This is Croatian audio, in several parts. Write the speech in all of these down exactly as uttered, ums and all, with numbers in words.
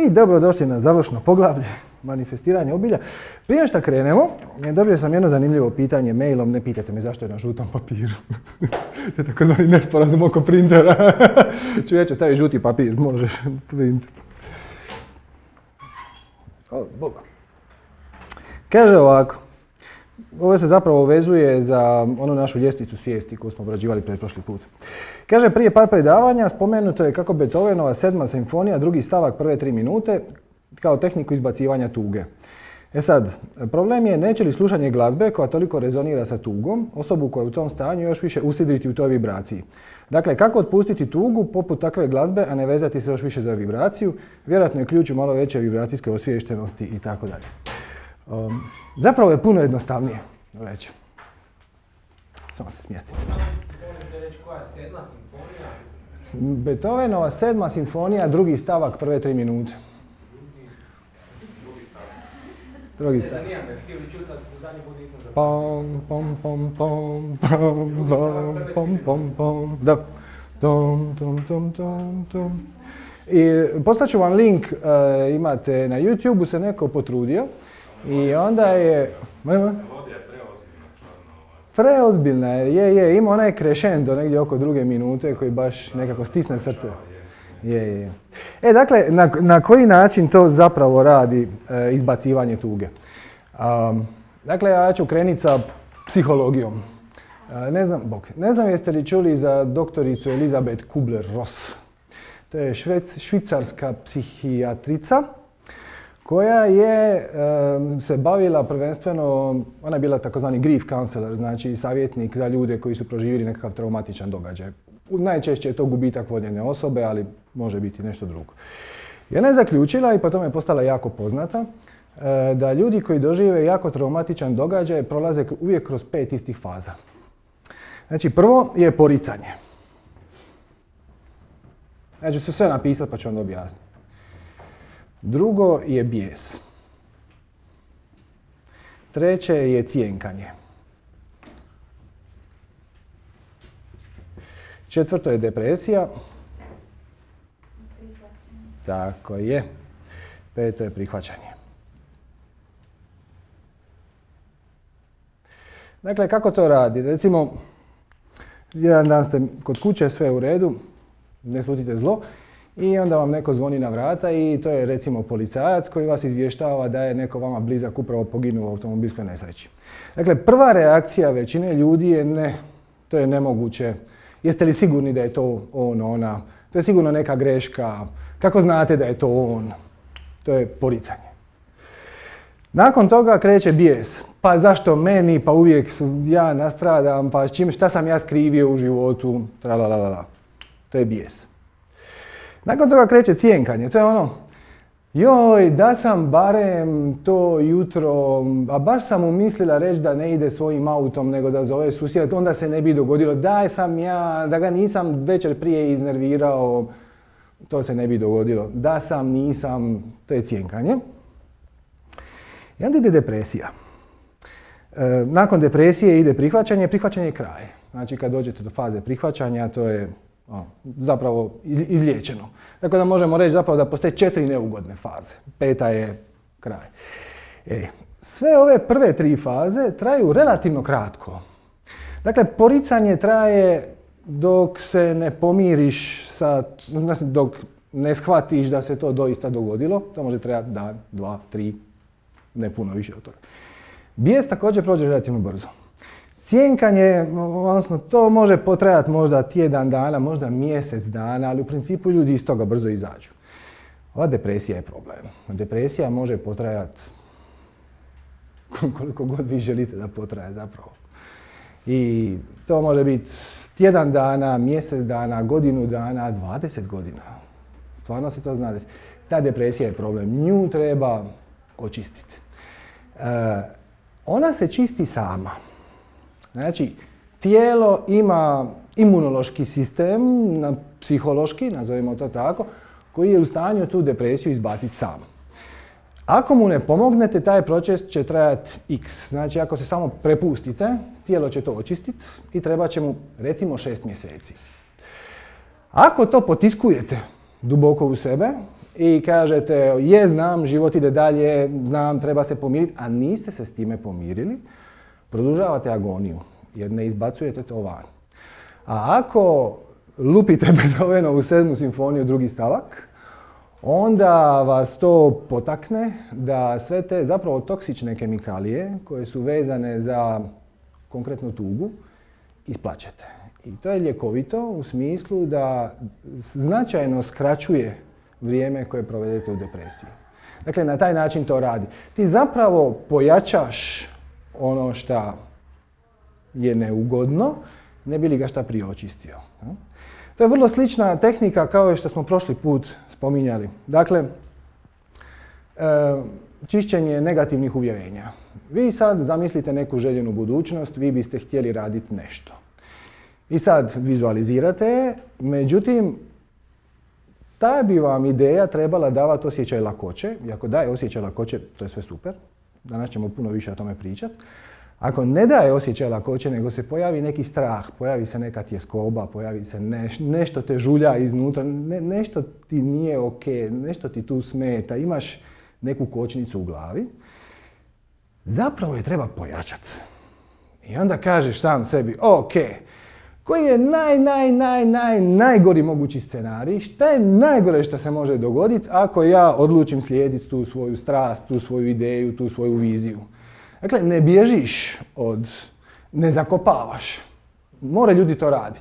I dobrodošli na završno poglavlje manifestiranje obilja. Prije što krenemo, dobio sam jedno zanimljivo pitanje mailom, ne pitajte me zašto je na žutom papiru. To je takozvani nesporazum oko printera. Čovječe, stavi žuti papir, možeš print. O, Bog. Kaže ovako, ovo se zapravo vezuje za onu našu ljestvicu svijesti koju smo obrađivali pretprošli put. Kaže, prije par predavanja spomenuto je kako Beethovenova sedma simfonija, drugi stavak prve tri minute, kao tehniku izbacivanja tuge. E sad, problem je neće li slušanje glazbe koja toliko rezonira sa tugom, osobu koja je u tom stanju još više usidriti u toj vibraciji. Dakle, kako otpustiti tugu poput takve glazbe, a ne vezati se još više za vibraciju, vjerojatno je ključ u malo veće vibracijske osviještenosti i tako dalje. Um, zapravo je puno jednostavnije reći. Samo se smjestite. Možete reći koja je sedma simfonija? Beethovenova sedma simfonija, drugi stavak, prve tri minute. Drugi stavak. Zanima me, htio bi čuti, u zadnji put nisam zapravo. Pom, pom, pom, pom, pom, pom, pom, pom, pom, da. Tom, tom, tom, tom, tom. I poslaću vam link, uh, imate na YouTube-u se neko potrudio. I onda je... Melodija je preozbiljna stvarno. Preozbiljna je, je, je. Ima onaj crescendo negdje oko druge minute koji baš nekako stisne srce. Je, je. E, dakle, na, na koji način to zapravo radi e, izbacivanje tuge? Um, dakle, ja ću krenuti sa psihologijom. E, ne znam, bok, ne znam jeste li čuli za doktoricu Elizabeth Kubler-Ross. To je švec, švicarska psihijatrica koja je um, se bavila prvenstveno, ona je bila takozvani grief counselor, znači savjetnik za ljude koji su proživjeli nekakav traumatičan događaj. Najčešće je to gubitak voljene osobe, ali može biti nešto drugo. I ona je zaključila, i po tome je postala jako poznata, uh, da ljudi koji dožive jako traumatičan događaj prolaze uvijek kroz pet istih faza. Znači, prvo je poricanje. Ja ću se sve napisati pa ću onda objasniti. Drugo je bijes. Treće je cjenkanje. Četvrto je depresija. Tako je. Peto je prihvaćanje. Dakle, kako to radi? Recimo, jedan dan ste kod kuće, sve u redu, ne slutite zlo, i onda vam neko zvoni na vrata i to je recimo policajac koji vas izvještava da je neko vama blizak upravo poginuo u automobilskoj nesreći. Dakle, prva reakcija većine ljudi je ne, to je nemoguće. Jeste li sigurni da je to on, ona? To je sigurno neka greška. Kako znate da je to on? To je poricanje. Nakon toga kreće bijes. Pa zašto meni? Pa uvijek ja nastradam. Pa čim, šta sam ja skrivio u životu? Tralalala. To je bijes. Nakon toga kreće cjenkanje. To je ono, joj, da sam barem to jutro, a baš sam mu mislila reći da ne ide svojim autom, nego da zove susjeda, onda se ne bi dogodilo. Daj sam ja, da ga nisam večer prije iznervirao, to se ne bi dogodilo. Da sam, nisam, to je cjenkanje. I onda ide depresija. E, nakon depresije ide prihvaćanje, prihvaćanje je kraj. Znači, kad dođete do faze prihvaćanja, to je O, zapravo izliječeno. Tako da možemo reći zapravo da postoje četiri neugodne faze. Peta je kraj. E, sve ove prve tri faze traju relativno kratko. Dakle, poricanje traje dok se ne pomiriš sa, dok ne shvatiš da se to doista dogodilo. To može trajati dan, dva, tri, ne puno više od toga. Bijes također prođe relativno brzo. Cjenkanje, odnosno to može potrajati možda tjedan dana, možda mjesec dana, ali u principu ljudi iz toga brzo izađu. Ova depresija je problem. Depresija može potrajati koliko god vi želite da potraje zapravo. I to može biti tjedan dana, mjesec dana, godinu dana, dvadeset godina. Stvarno se to zna. Ta depresija je problem. Nju treba očistiti. E, ona se čisti sama. Znači, tijelo ima imunološki sistem, psihološki, nazovimo to tako, koji je u stanju tu depresiju izbaciti sam. Ako mu ne pomognete, taj proces će trajati x. Znači, ako se samo prepustite, tijelo će to očistiti i treba će mu, recimo, šest mjeseci. Ako to potiskujete duboko u sebe i kažete je, znam, život ide dalje, znam, treba se pomiriti, a niste se s time pomirili, produžavate agoniju jer ne izbacujete to van. A ako lupite Beethovenovu sedmu simfoniju, drugi stavak, onda vas to potakne da sve te zapravo toksične kemikalije koje su vezane za konkretnu tugu isplaćete. I to je ljekovito u smislu da značajno skraćuje vrijeme koje provedete u depresiji. Dakle, na taj način to radi. Ti zapravo pojačaš ono što je neugodno, ne bi li ga šta prije očistio. To je vrlo slična tehnika kao što smo prošli put spominjali. Dakle, čišćenje negativnih uvjerenja. Vi sad zamislite neku željenu budućnost, vi biste htjeli raditi nešto. I sad vizualizirate, međutim, ta bi vam ideja trebala davati osjećaj lakoće. I ako daje osjećaj lakoće, to je sve super. Danas ćemo puno više o tome pričati. Ako ne daje osjećaj lakoće, nego se pojavi neki strah, pojavi se neka tjeskoba, pojavi se neš, nešto te žulja iznutra, ne, nešto ti nije ok, nešto ti tu smeta, imaš neku kočnicu u glavi, zapravo je treba pojačati. I onda kažeš sam sebi, ok, koji je naj, naj, naj, naj, najgori mogući scenarij, šta je najgore što se može dogoditi ako ja odlučim slijediti tu svoju strast, tu svoju ideju, tu svoju viziju. Dakle, ne bježiš od, ne zakopavaš. More ljudi to radi.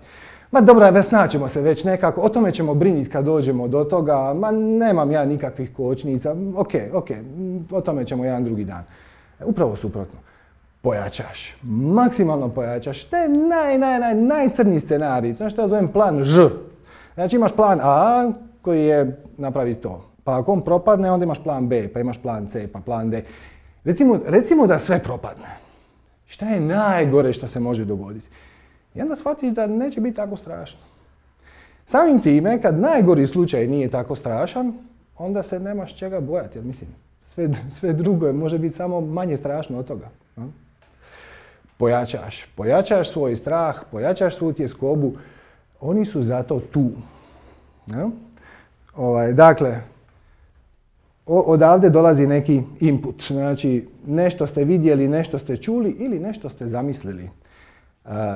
Ma dobro, već naćemo se već nekako, o tome ćemo briniti kad dođemo do toga, ma nemam ja nikakvih kočnica, ok, ok, o tome ćemo jedan drugi dan. Upravo suprotno. Pojačaš, maksimalno pojačaš, to je naj, naj, naj, najcrniji scenarij, to je što ja zovem plan Ž. Znači imaš plan A koji je napravi to, pa ako on propadne, onda imaš plan B, pa imaš plan C, pa plan D. Recimo, recimo da sve propadne. Šta je najgore što se može dogoditi? I onda shvatiš da neće biti tako strašno. Samim time, kad najgori slučaj nije tako strašan, onda se nemaš čega bojati, jer mislim, sve, sve drugo je, može biti samo manje strašno od toga. Pojačaš, pojačaš svoj strah, pojačaš svoju tjeskobu, oni su zato tu. Ja? Ovaj, dakle, odavde dolazi neki input, znači nešto ste vidjeli, nešto ste čuli ili nešto ste zamislili.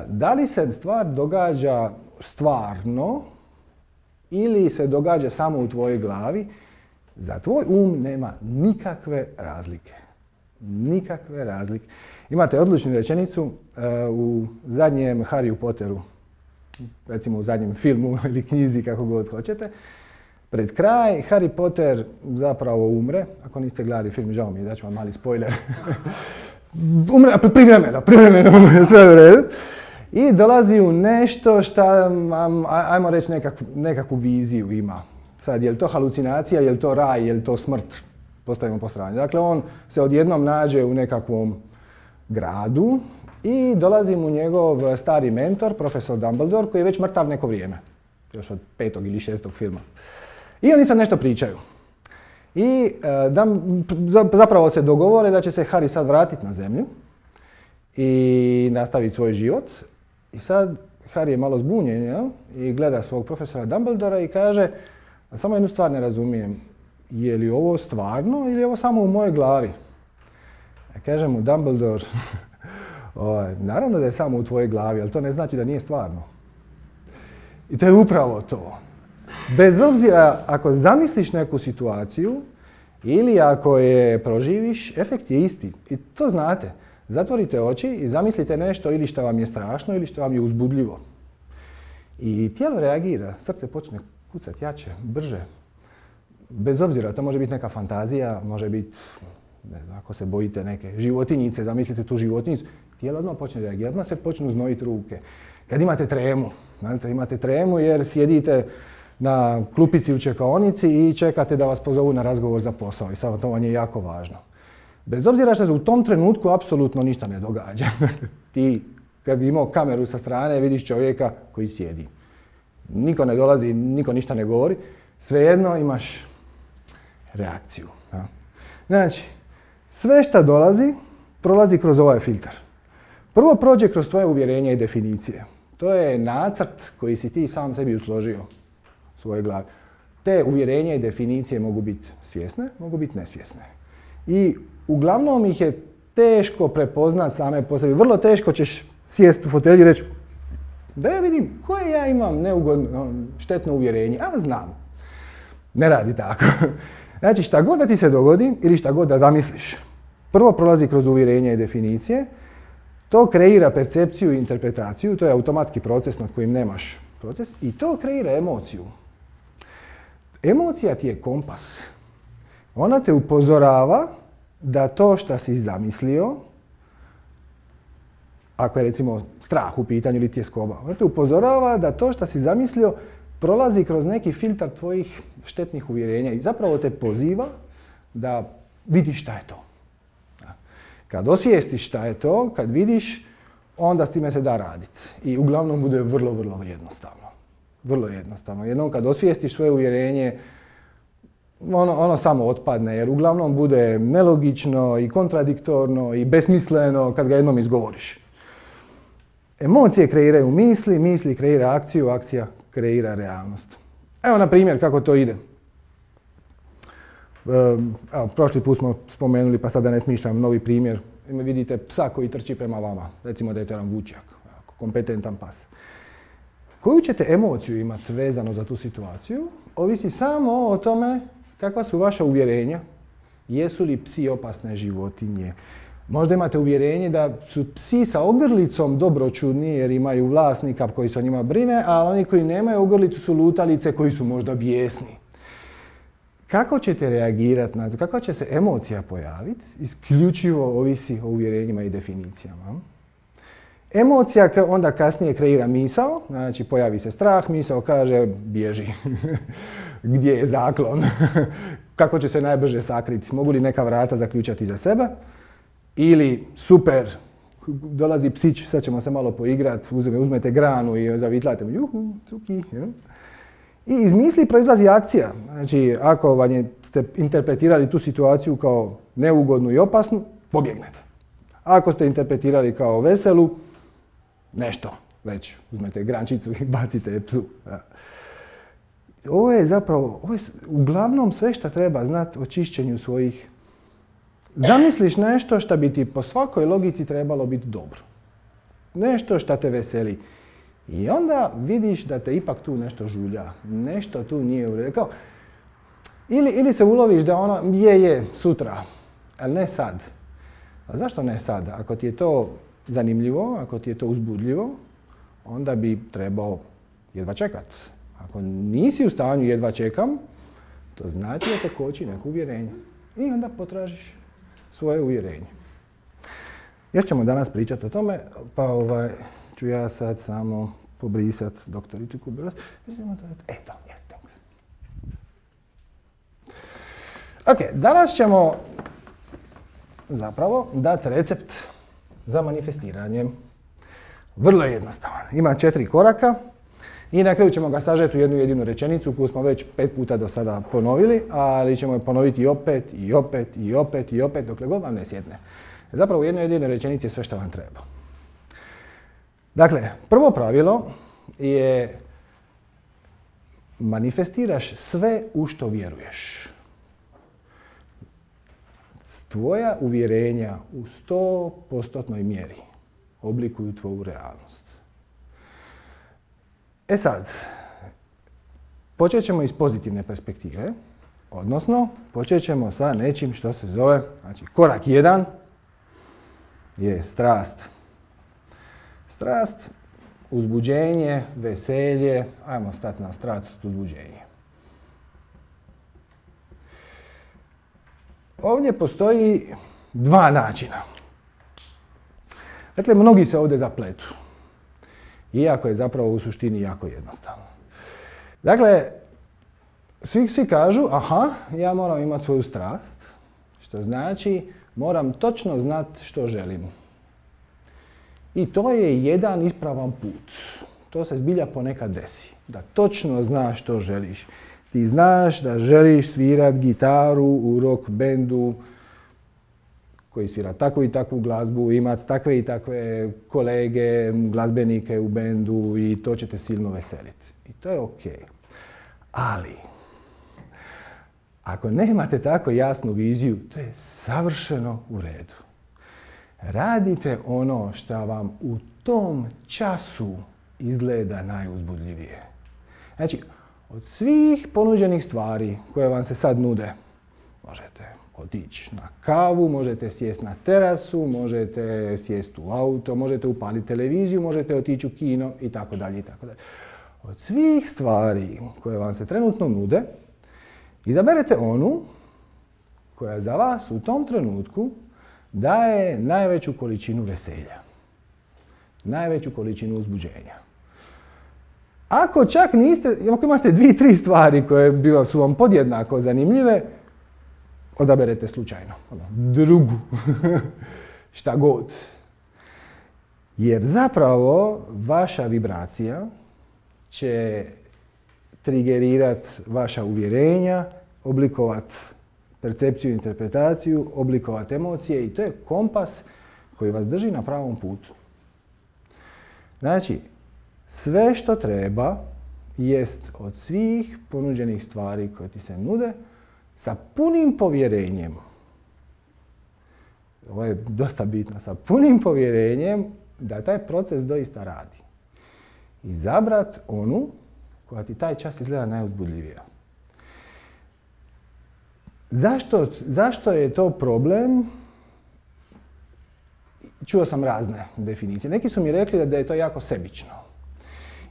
Da li se stvar događa stvarno ili se događa samo u tvojoj glavi, za tvoj um nema nikakve razlike. Nikakve razlike. Imate odličnu rečenicu u zadnjem Harryu Potteru, recimo u zadnjem filmu ili knjizi, kako god hoćete. Pred kraj, Harry Potter zapravo umre. Ako niste gledali film, žao mi je, daću vam mali spoiler. Umre, privremeno, privremeno umre, sve u redu. I dolazi u nešto što, ajmo reći, nekakvu, nekakvu viziju ima. Sad, je li to halucinacija, je li to raj, je li to smrt? Postavimo po strani. Dakle, on se odjednom nađe u nekakvom gradu i dolazi mu njegov stari mentor, profesor Dumbledore, koji je već mrtav neko vrijeme. Još od petog ili šestog filma. I oni sad nešto pričaju. I da, zapravo se dogovore da će se Harry sad vratiti na zemlju i nastaviti svoj život. I sad Harry je malo zbunjen, jel? I gleda svog profesora Dumbledora i kaže, samo jednu stvar ne razumijem, je li ovo stvarno ili je ovo samo u mojoj glavi? Ja kaže mu Dumbledore, naravno da je samo u tvojoj glavi, ali to ne znači da nije stvarno. I to je upravo to. Bez obzira ako zamisliš neku situaciju ili ako je proživiš, efekt je isti. I to znate. Zatvorite oči i zamislite nešto ili što vam je strašno ili što vam je uzbudljivo. I tijelo reagira, srce počne kucati jače, brže. Bez obzira, to može biti neka fantazija, može biti, ne znam, ako se bojite neke životinjice, zamislite tu životinjicu, tijelo odmah počne reagirati, odmah se počnu znojiti ruke. Kad imate tremu, znate, imate tremu jer sjedite na klupici u čekaonici i čekate da vas pozovu na razgovor za posao i sad to vam je jako važno. Bez obzira što se u tom trenutku apsolutno ništa ne događa. Ti, kad bi imao kameru sa strane, vidiš čovjeka koji sjedi. Niko ne dolazi, niko ništa ne govori, svejedno imaš reakciju. Ja. Znači, sve što dolazi, prolazi kroz ovaj filtar. Prvo prođe kroz tvoje uvjerenje i definicije. To je nacrt koji si ti sam sebi usložio u svojoj glavi. Te uvjerenja i definicije mogu biti svjesne, mogu biti nesvjesne. I uglavnom ih je teško prepoznat same po sebi. Vrlo teško ćeš sjesti u fotelji i reći da ja vidim koje ja imam neugodno, štetno uvjerenje. A znam. Ne radi tako. Znači šta god da ti se dogodi ili šta god da zamisliš, prvo prolazi kroz uvjerenja i definicije, to kreira percepciju i interpretaciju, to je automatski proces nad kojim nemaš proces i to kreira emociju. Emocija ti je kompas. Ona te upozorava da to što si zamislio, ako je recimo strah u pitanju ili tjeskoba, ona te upozorava da to što si zamislio prolazi kroz neki filtar tvojih štetnih uvjerenja i zapravo te poziva da vidiš šta je to. Kad osvijestiš šta je to, kad vidiš, onda s time se da raditi. I uglavnom bude vrlo, vrlo jednostavno. Vrlo jednostavno. Jednom kad osvijestiš svoje uvjerenje, ono, ono samo otpadne, jer uglavnom bude nelogično i kontradiktorno i besmisleno kad ga jednom izgovoriš. Emocije kreiraju misli, misli kreira akciju, akcija kreira realnost. Evo na primjer kako to ide. Evo, prošli put smo spomenuli, pa sada ne smišljam novi primjer. Vidite psa koji trči prema vama. Recimo da je to jedan vučjak, kompetentan pas. Koju ćete emociju imati vezano za tu situaciju, ovisi samo o tome kakva su vaša uvjerenja. Jesu li psi opasne životinje? Možda imate uvjerenje da su psi sa ogrlicom dobročudni jer imaju vlasnika koji se o njima brine, a oni koji nemaju ogrlicu su lutalice koji su možda bijesni. Kako ćete reagirati na to? Kako će se emocija pojaviti? Isključivo ovisi o uvjerenjima i definicijama. Emocija onda kasnije kreira misao, znači pojavi se strah, misao kaže bježi. Gdje je zaklon? Kako će se najbrže sakriti? Mogu li neka vrata zaključati za sebe? Ili super, dolazi psić, sad ćemo se malo poigrati, uzmete granu i zavitlate, juhu, cuki. I iz misli proizlazi akcija. Znači, ako vam je, ste interpretirali tu situaciju kao neugodnu i opasnu, pobjegnete. Ako ste interpretirali kao veselu, nešto, već uzmete grančicu i bacite psu. Ovo je zapravo, ovo je uglavnom sve što treba znati o čišćenju svojih. Zamisliš nešto što bi ti po svakoj logici trebalo biti dobro. Nešto što te veseli. I onda vidiš da te ipak tu nešto žulja. Nešto tu nije u redu. Ili, ili se uloviš da ono je, je, sutra, ali ne sad. A zašto ne sad? Ako ti je to zanimljivo, ako ti je to uzbudljivo, onda bi trebao jedva čekat. Ako nisi u stanju jedva čekam, to znači da te koči neko uvjerenje. I onda potražiš svoje uvjerenje. Još ćemo danas pričati o tome, pa ovaj, ću ja sad samo pobrisati doktoricu Kuberos. Eto, yes, thanks. Ok, danas ćemo zapravo dati recept za manifestiranje. Vrlo je jednostavan. Ima četiri koraka i na kraju ćemo ga sažeti u jednu jedinu rečenicu koju smo već pet puta do sada ponovili, ali ćemo je ponoviti i opet, i opet, i opet, i opet, dokle god vam ne sjedne. Zapravo u jednoj jedinoj rečenici je sve što vam treba. Dakle, prvo pravilo je manifestiraš sve u što vjeruješ. Tvoja uvjerenja u sto postotnoj mjeri oblikuju tvoju realnost. E sad, počet ćemo iz pozitivne perspektive, odnosno počet ćemo sa nečim što se zove, znači korak jedan je strast. Strast, uzbuđenje, veselje, ajmo stati na strast, uzbuđenje. Ovdje postoji dva načina. Dakle, mnogi se ovdje zapletu. Iako je zapravo u suštini jako jednostavno. Dakle, svi, svi kažu, aha, ja moram imati svoju strast, što znači moram točno znati što želim. I to je jedan ispravan put. To se zbilja ponekad desi. Da točno znaš što želiš. Ti znaš da želiš svirati gitaru u rock bendu koji svira takvu i takvu glazbu, imati takve i takve kolege, glazbenike u bendu i to će te silno veseliti. I to je ok. Ali, Ako nemate tako jasnu viziju, to je savršeno u redu. Radite ono što vam u tom času izgleda najuzbudljivije. Znači, od svih ponuđenih stvari koje vam se sad nude, možete otići na kavu, možete sjesti na terasu, možete sjesti u auto, možete upaliti televiziju, možete otići u kino i tako dalje i tako dalje. Od svih stvari koje vam se trenutno nude, izaberete onu koja za vas u tom trenutku daje najveću količinu veselja, najveću količinu uzbuđenja. Ako čak niste, ako imate dvije, tri stvari koje su vam podjednako zanimljive, odaberete slučajno, drugu, šta god. Jer zapravo vaša vibracija će trigerirati vaša uvjerenja, oblikovati percepciju i interpretaciju, oblikovati emocije i to je kompas koji vas drži na pravom putu. Znači, sve što treba jest od svih ponuđenih stvari koje ti se nude sa punim povjerenjem. Ovo je dosta bitno, sa punim povjerenjem da taj proces doista radi. Izabrat onu koja ti taj čas izgleda najuzbudljivija. Zašto, zašto je to problem? Čuo sam razne definicije. Neki su mi rekli da je to jako sebično.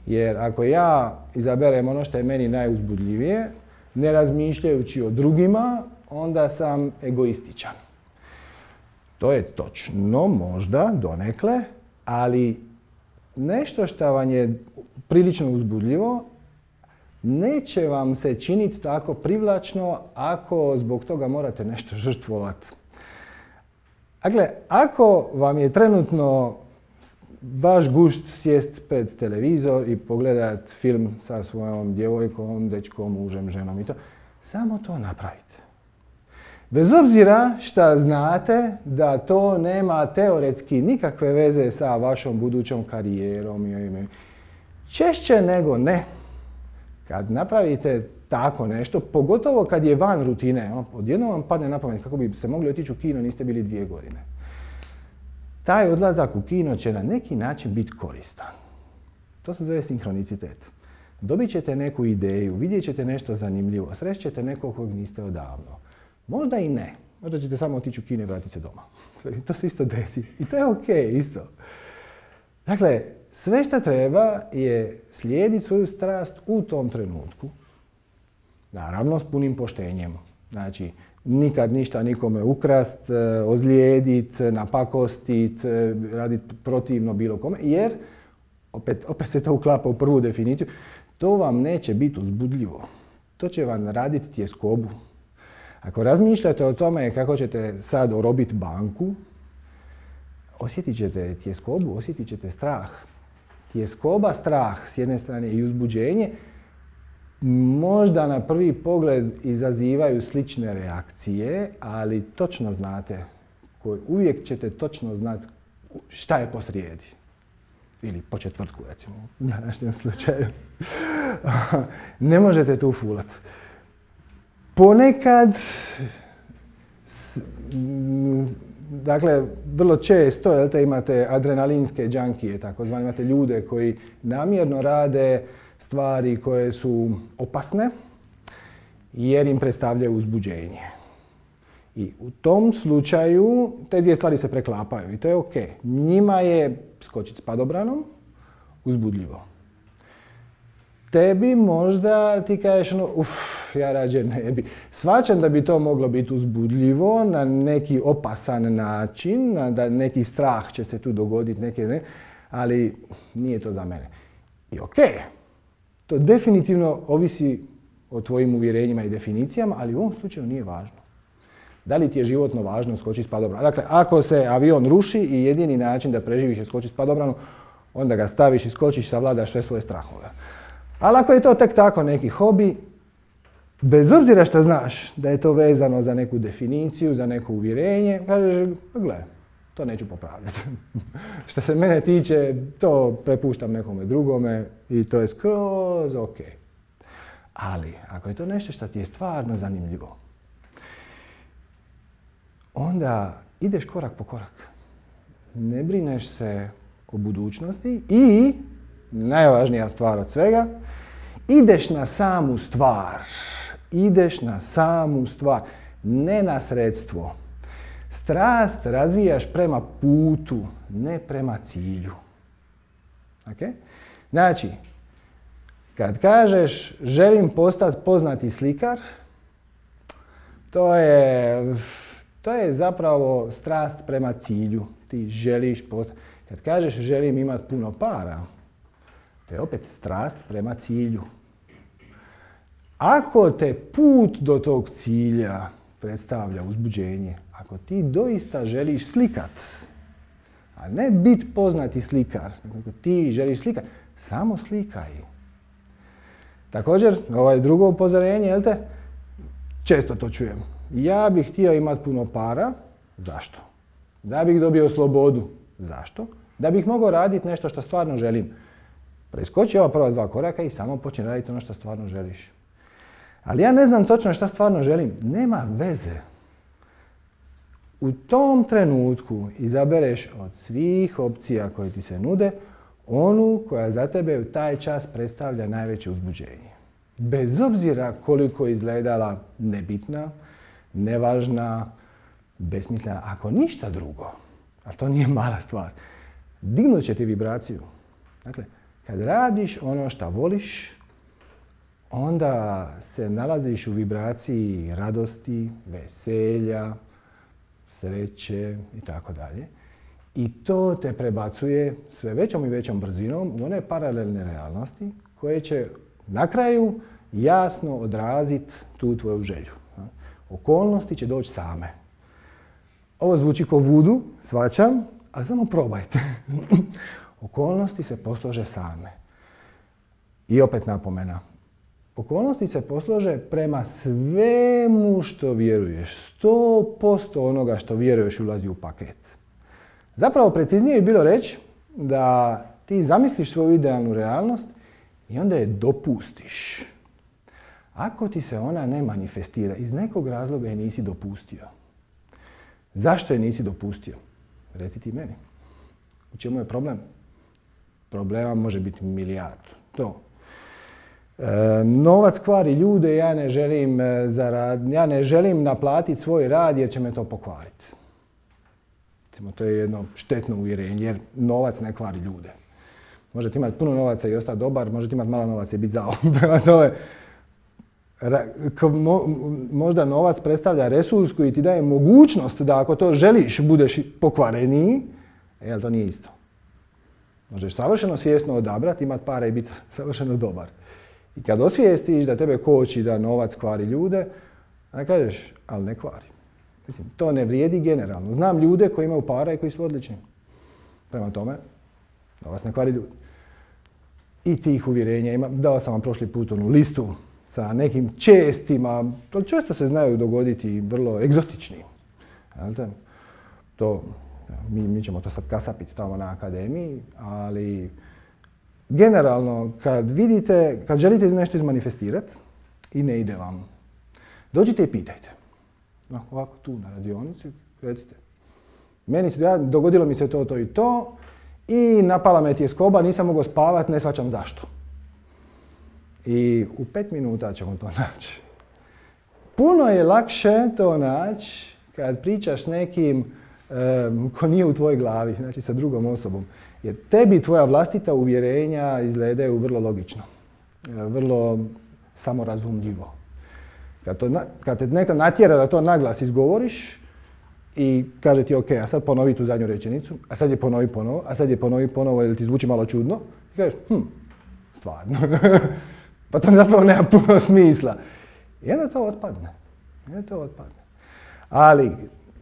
Jer ako ja izaberem ono što je meni najuzbudljivije, ne razmišljajući o drugima, onda sam egoističan. To je točno, možda, donekle, ali nešto što vam je prilično uzbudljivo, neće vam se činiti tako privlačno ako zbog toga morate nešto žrtvovati. Dakle, ako vam je trenutno vaš gušt sjest pred televizor i pogledat film sa svojom djevojkom, dečkom, mužem, ženom i to, samo to napravite. Bez obzira što znate da to nema teoretski nikakve veze sa vašom budućom karijerom. Češće nego ne, kad napravite tako nešto, pogotovo kad je van rutine, odjednom vam padne na pamet kako bi se mogli otići u kino, niste bili dvije godine. Taj odlazak u kino će na neki način biti koristan. To se zove sinhronicitet. Dobit ćete neku ideju, vidjet ćete nešto zanimljivo, srećete nekog kog niste odavno. Možda i ne. Možda ćete samo otići u kino i vratiti se doma. To se isto desi. I to je ok, isto. Dakle, sve što treba je slijediti svoju strast u tom trenutku. Naravno, s punim poštenjem. Znači, nikad ništa nikome ukrast, ozlijedit, napakostit, raditi protivno bilo kome, jer, opet, opet se to uklapa u prvu definiciju, to vam neće biti uzbudljivo. To će vam raditi tjeskobu. Ako razmišljate o tome kako ćete sad orobiti banku, osjetit ćete tjeskobu, osjetit ćete strah. Tjeskoba, strah s jedne strane i uzbuđenje, možda na prvi pogled izazivaju slične reakcije, ali točno znate, uvijek ćete točno znati šta je posrijedi. Ili po četvrtku, recimo, u današnjem slučaju. Ne možete tu fulat. Ponekad, dakle, vrlo često jel te, imate adrenalinske džankije, takozvani, imate ljude koji namjerno rade stvari koje su opasne jer im predstavljaju uzbuđenje. I u tom slučaju te dvije stvari se preklapaju i to je ok. Njima je skočiti s padobranom uzbudljivo. Tebi možda ti kažeš ono, uff, ja rađe ne bi. Shvaćam da bi to moglo biti uzbudljivo na neki opasan način, da neki strah će se tu dogoditi, neke, ne, ali nije to za mene. I ok, to definitivno ovisi o tvojim uvjerenjima i definicijama, ali u ovom slučaju nije važno. Da li ti je životno važno skočiti s padobranom? Dakle, ako se avion ruši i jedini način da preživiš je skočiti s padobranom, onda ga staviš i skočiš, savladaš sve svoje strahove. Ali ako je to tek tako neki hobi, bez obzira što znaš da je to vezano za neku definiciju, za neko uvjerenje, kažeš, gle, to neću popravljati. Što se mene tiče, to prepuštam nekome drugome i to je skroz ok. Ali, ako je to nešto što ti je stvarno zanimljivo, onda ideš korak po korak. Ne brineš se o budućnosti i, najvažnija stvar od svega, ideš na samu stvar. Ideš na samu stvar, ne na sredstvo. Strast razvijaš prema putu, ne prema cilju. Okay? Znači, kad kažeš želim postati poznati slikar, to je, to je zapravo strast prema cilju. Ti želiš postati. Kad kažeš želim imati puno para, to je opet strast prema cilju. Ako te put do tog cilja predstavlja uzbuđenje, ako ti doista želiš slikat, a ne biti poznati slikar, ako ti želiš slikat, samo slikaj. Također, ovaj drugo upozorenje, jel te? Često to čujem. Ja bih htio imati puno para. Zašto? Da bih dobio slobodu. Zašto? Da bih mogao raditi nešto što stvarno želim. Preskoči ova prva dva koraka i samo počni raditi ono što stvarno želiš. Ali ja ne znam točno što stvarno želim. Nema veze. U tom trenutku izabereš od svih opcija koje ti se nude onu koja za tebe u taj čas predstavlja najveće uzbuđenje. Bez obzira koliko izgledala nebitna, nevažna, besmislena, ako ništa drugo, ali to nije mala stvar, dignut će ti vibraciju. Dakle, kad radiš ono što voliš, onda se nalaziš u vibraciji radosti, veselja, sreće i tako dalje. I to te prebacuje sve većom i većom brzinom u one paralelne realnosti koje će na kraju jasno odraziti tu tvoju želju. Okolnosti će doći same. Ovo zvuči kao vudu, shvaćam, ali samo probajte. Okolnosti se poslože same. I opet napomena. Okolnosti se poslože prema svemu što vjeruješ. sto posto onoga što vjeruješ ulazi u paket. Zapravo preciznije bi bilo reći da ti zamisliš svoju idealnu realnost i onda je dopustiš. Ako ti se ona ne manifestira, iz nekog razloga je nisi dopustio. Zašto je nisi dopustio? Reci ti meni. U čemu je problem? Problema može biti milijardu. To. E, novac kvari ljude, ja ne želim zarad, ja ne želim naplatiti svoj rad jer će me to pokvariti. Recimo, to je jedno štetno uvjerenje jer novac ne kvari ljude. Možete imati puno novaca i ostati dobar, možete imati malo novaca i biti zao. To je, možda novac predstavlja resurs koji ti daje mogućnost da ako to želiš budeš pokvareniji, ali to nije isto. Možeš savršeno svjesno odabrati, imati para i biti savršeno dobar. I kad osvijestiš da tebe koči da novac kvari ljude, onda kažeš, ali ne kvari. Mislim, to ne vrijedi generalno. Znam ljude koji imaju para i koji su odlični. Prema tome, novac ne kvari ljude. I tih uvjerenja ima. Dao sam vam prošli put onu listu sa nekim čestima, to često se znaju dogoditi vrlo egzotični. To, mi, mi ćemo to sad kasapiti tamo na akademiji, ali generalno kad vidite, kad želite nešto izmanifestirati i ne ide vam, dođite i pitajte. No, ovako tu na radionici, recite. Meni se, ja, dogodilo mi se to, to i to i napala me tjeskoba, nisam mogao spavati, ne shvaćam zašto. I u pet minuta ćemo to naći. Puno je lakše to naći kad pričaš s nekim um, ko nije u tvojoj glavi, znači sa drugom osobom. Jer tebi tvoja vlastita uvjerenja izgledaju vrlo logično, vrlo samorazumljivo. Kad, to, kad te neko natjera da to naglas izgovoriš i kaže ti ok, a sad ponovi tu zadnju rečenicu, a sad je ponovi ponovo, a sad je ponovi ponovo jer ti zvuči malo čudno, i kažeš, hm, stvarno. Pa to zapravo nema puno smisla. I onda to otpadne. I onda to otpadne. Ali,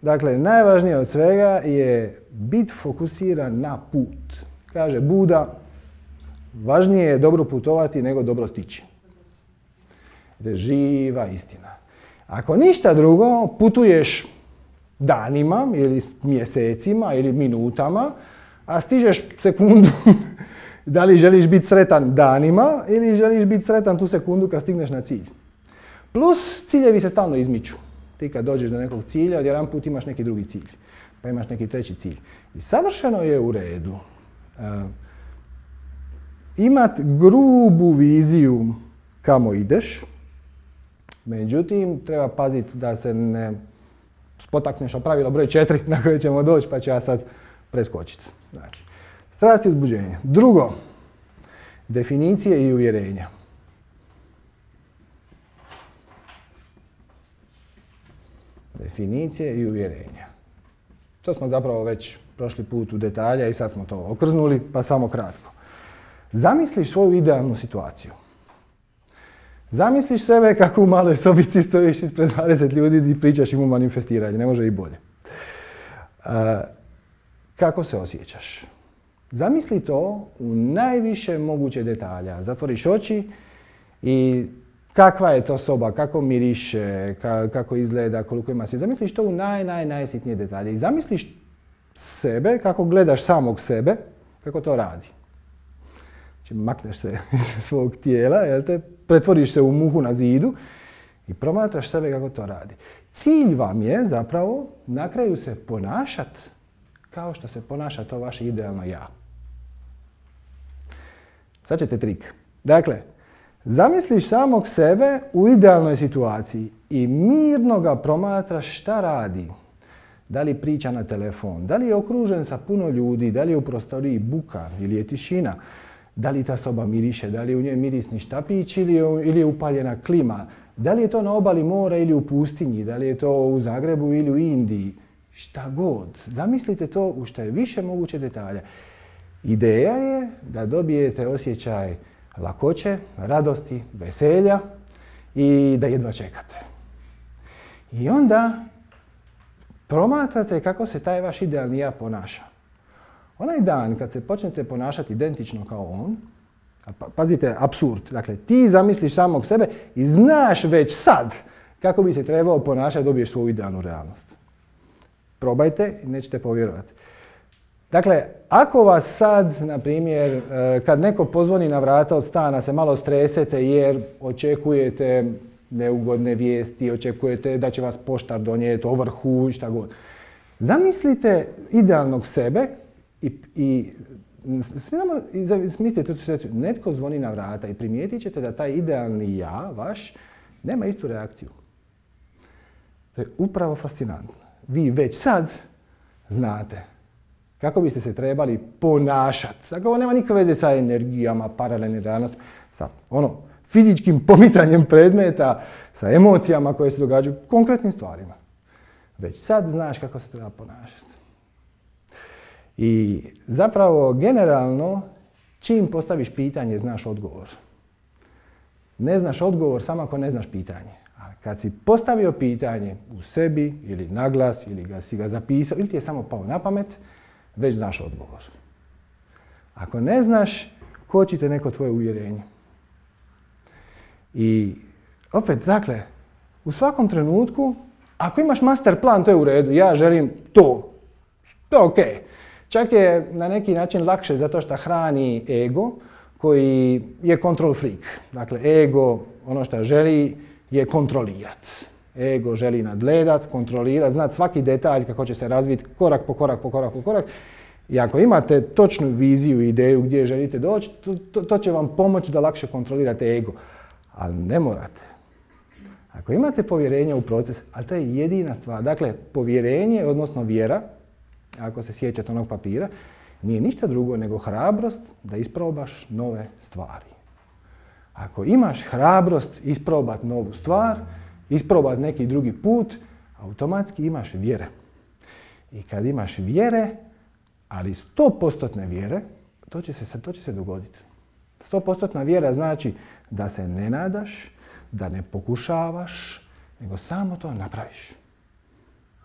dakle, najvažnije od svega je biti fokusiran na put. Kaže Buda, važnije je dobro putovati nego dobro stići. To je živa istina. Ako ništa drugo, putuješ danima ili mjesecima ili minutama, a stižeš sekundu. Da li želiš biti sretan danima ili želiš biti sretan tu sekundu kad stigneš na cilj. Plus, ciljevi se stalno izmiču. Ti kad dođeš do nekog cilja, odjedan put imaš neki drugi cilj. Pa imaš neki treći cilj. I savršeno je u redu uh, imati grubu viziju kamo ideš, međutim, treba paziti da se ne spotakneš o pravilo broj četiri na koje ćemo doći, pa ću ja sad preskočiti. Znači, strast i uzbuđenje. Drugo, definicije i uvjerenja. Definicije i uvjerenja. To smo zapravo već prošli put u detalje i sad smo to okrznuli, pa samo kratko. Zamisliš svoju idealnu situaciju. Zamisliš sebe kako u maloj sobici stojiš ispred dvadeset ljudi i pričaš im o manifestiranju, ne može i bolje. Uh, kako se osjećaš? Zamisli to u najviše moguće detalja. Zatvoriš oči i kakva je to soba, kako miriše, ka, kako izgleda, koliko ima svjetla. Zamisliš to u naj, naj, najsitnije detalje. I zamisliš sebe, kako gledaš samog sebe, kako to radi. Znači, makneš se iz svog tijela, jel te, pretvoriš se u muhu na zidu i promatraš sebe kako to radi. Cilj vam je zapravo na kraju se ponašati kao što se ponaša to vaše idealno ja. Sad ćete trik. Dakle, zamisliš samog sebe u idealnoj situaciji i mirno ga promatraš šta radi. Da li priča na telefon, da li je okružen sa puno ljudi, da li je u prostoriji buka ili je tišina, da li ta soba miriše, da li je u njoj mirisni štapić ili je, ili je upaljena klima, da li je to na obali mora ili u pustinji, da li je to u Zagrebu ili u Indiji, šta god. Zamislite to u što je više moguće detalja. Ideja je da dobijete osjećaj lakoće, radosti, veselja i da jedva čekate. I onda promatrate kako se taj vaš idealni ja ponaša. Onaj dan kad se počnete ponašati identično kao on, pazite, apsurd, dakle ti zamisliš samog sebe i znaš već sad kako bi se trebao ponašati, dobiješ svoju idealnu realnost. Probajte i nećete povjerovati. Dakle, ako vas sad, na primjer, kad neko pozvoni na vrata od stana, se malo stresete jer očekujete neugodne vijesti, očekujete da će vas poštar donijeti ovrhu i šta god. Zamislite idealnog sebe i, i smislite tu situaciju. Netko zvoni na vrata i primijetit ćete da taj idealni ja, vaš, nema istu reakciju. To je upravo fascinantno. Vi već sad znate kako biste se trebali ponašati. Dakle, ovo nema nikakve veze sa energijama, paralelnim realnostima, sa ono, fizičkim pomicanjem predmeta, sa emocijama koje se događaju, konkretnim stvarima. Već sad znaš kako se treba ponašati. I zapravo, generalno, čim postaviš pitanje, znaš odgovor. Ne znaš odgovor samo ako ne znaš pitanje. Ali kad si postavio pitanje u sebi, ili naglas, ili ga si ga zapisao, ili ti je samo pao na pamet, već znaš odgovor. Ako ne znaš, kočite neko tvoje uvjerenje. I opet, dakle, u svakom trenutku, ako imaš master plan, to je u redu. Ja želim to. To je okej. Čak je na neki način lakše zato što hrani ego koji je control freak. Dakle, ego, ono što želi je kontrolirat. Ego želi nadgledat, kontrolirat, znat svaki detalj kako će se razviti korak po korak po korak po korak. I ako imate točnu viziju i ideju gdje želite doći, to, to, to će vam pomoći da lakše kontrolirate ego. Ali ne morate. Ako imate povjerenje u proces, ali to je jedina stvar. Dakle, povjerenje, odnosno vjera, ako se sjećate onog papira, nije ništa drugo nego hrabrost da isprobaš nove stvari. Ako imaš hrabrost isprobati novu stvar, isprobati neki drugi put, automatski imaš vjere. I kad imaš vjere, ali sto posto vjere, to će se, to će se dogoditi. sto posto vjera znači da se ne nadaš, da ne pokušavaš, nego samo to napraviš.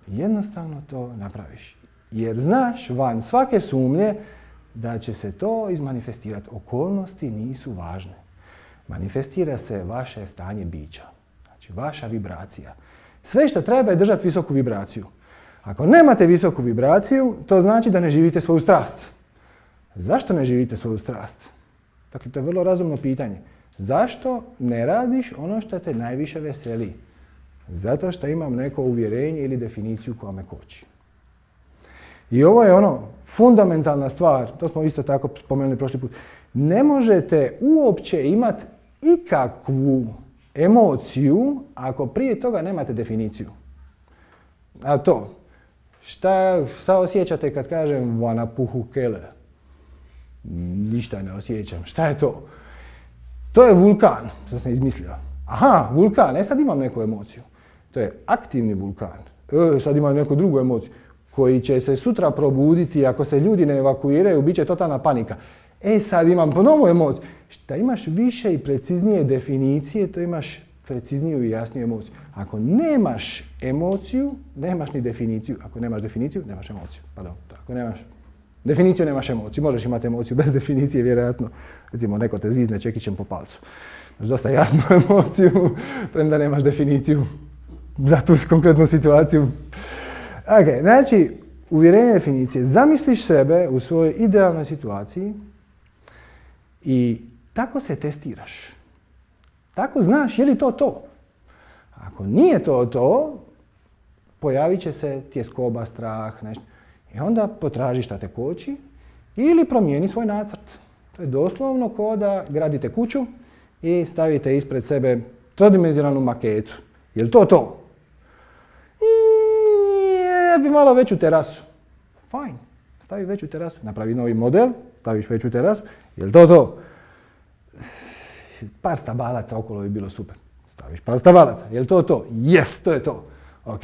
Jednostavno to napraviš. Jer znaš van svake sumnje da će se to izmanifestirati. Okolnosti nisu važne. Manifestira se vaše stanje bića. Znači vaša vibracija. Sve što treba je držati visoku vibraciju. Ako nemate visoku vibraciju, to znači da ne živite svoju strast. Zašto ne živite svoju strast? Dakle, to je vrlo razumno pitanje. Zašto ne radiš ono što te najviše veseli? Zato što imam neko uvjerenje ili definiciju koja me koči. I ovo je ono, fundamentalna stvar, to smo isto tako spomenuli prošli put. Ne možete uopće imati ikakvu emociju ako prije toga nemate definiciju. A to, šta, šta osjećate kad kažem vanapuhu kele? Ništa ne osjećam. Šta je to? To je vulkan, što sam izmislio. Aha, vulkan, e sad imam neku emociju. To je aktivni vulkan. E, sad imam neku drugu emociju koji će se sutra probuditi ako se ljudi ne evakuiraju, bit će totalna panika. E sad imam ponovo emociju. Šta imaš više i preciznije definicije, to imaš precizniju i jasniju emociju. Ako nemaš emociju, nemaš ni definiciju. Ako nemaš definiciju, nemaš emociju. Pardon, ako nemaš definiciju, nemaš emociju. Možeš imati emociju bez definicije, vjerojatno. Recimo, neko te zvizne čekićem po palcu. Imaš dosta jasnu emociju, premda nemaš definiciju za tu konkretnu situaciju. Ok, znači, uvjerenje definicije. Zamisliš sebe u svojoj idealnoj situaciji i tako se testiraš. Tako znaš je li to to. Ako nije to to, pojavit će se tjeskoba, strah, nešto. I onda potraži šta te koči ili promijeni svoj nacrt. To je doslovno kao da gradite kuću i stavite ispred sebe trodimenzionalnu maketu. Je li to to? Ja bi malo veću terasu. Fajn. Stavi veću terasu. Napravi novi model, staviš veću terasu. Je li to to? Par stabalaca okolo bi bilo super. Staviš par stabalaca. Je li to to? Yes, to je to. Ok.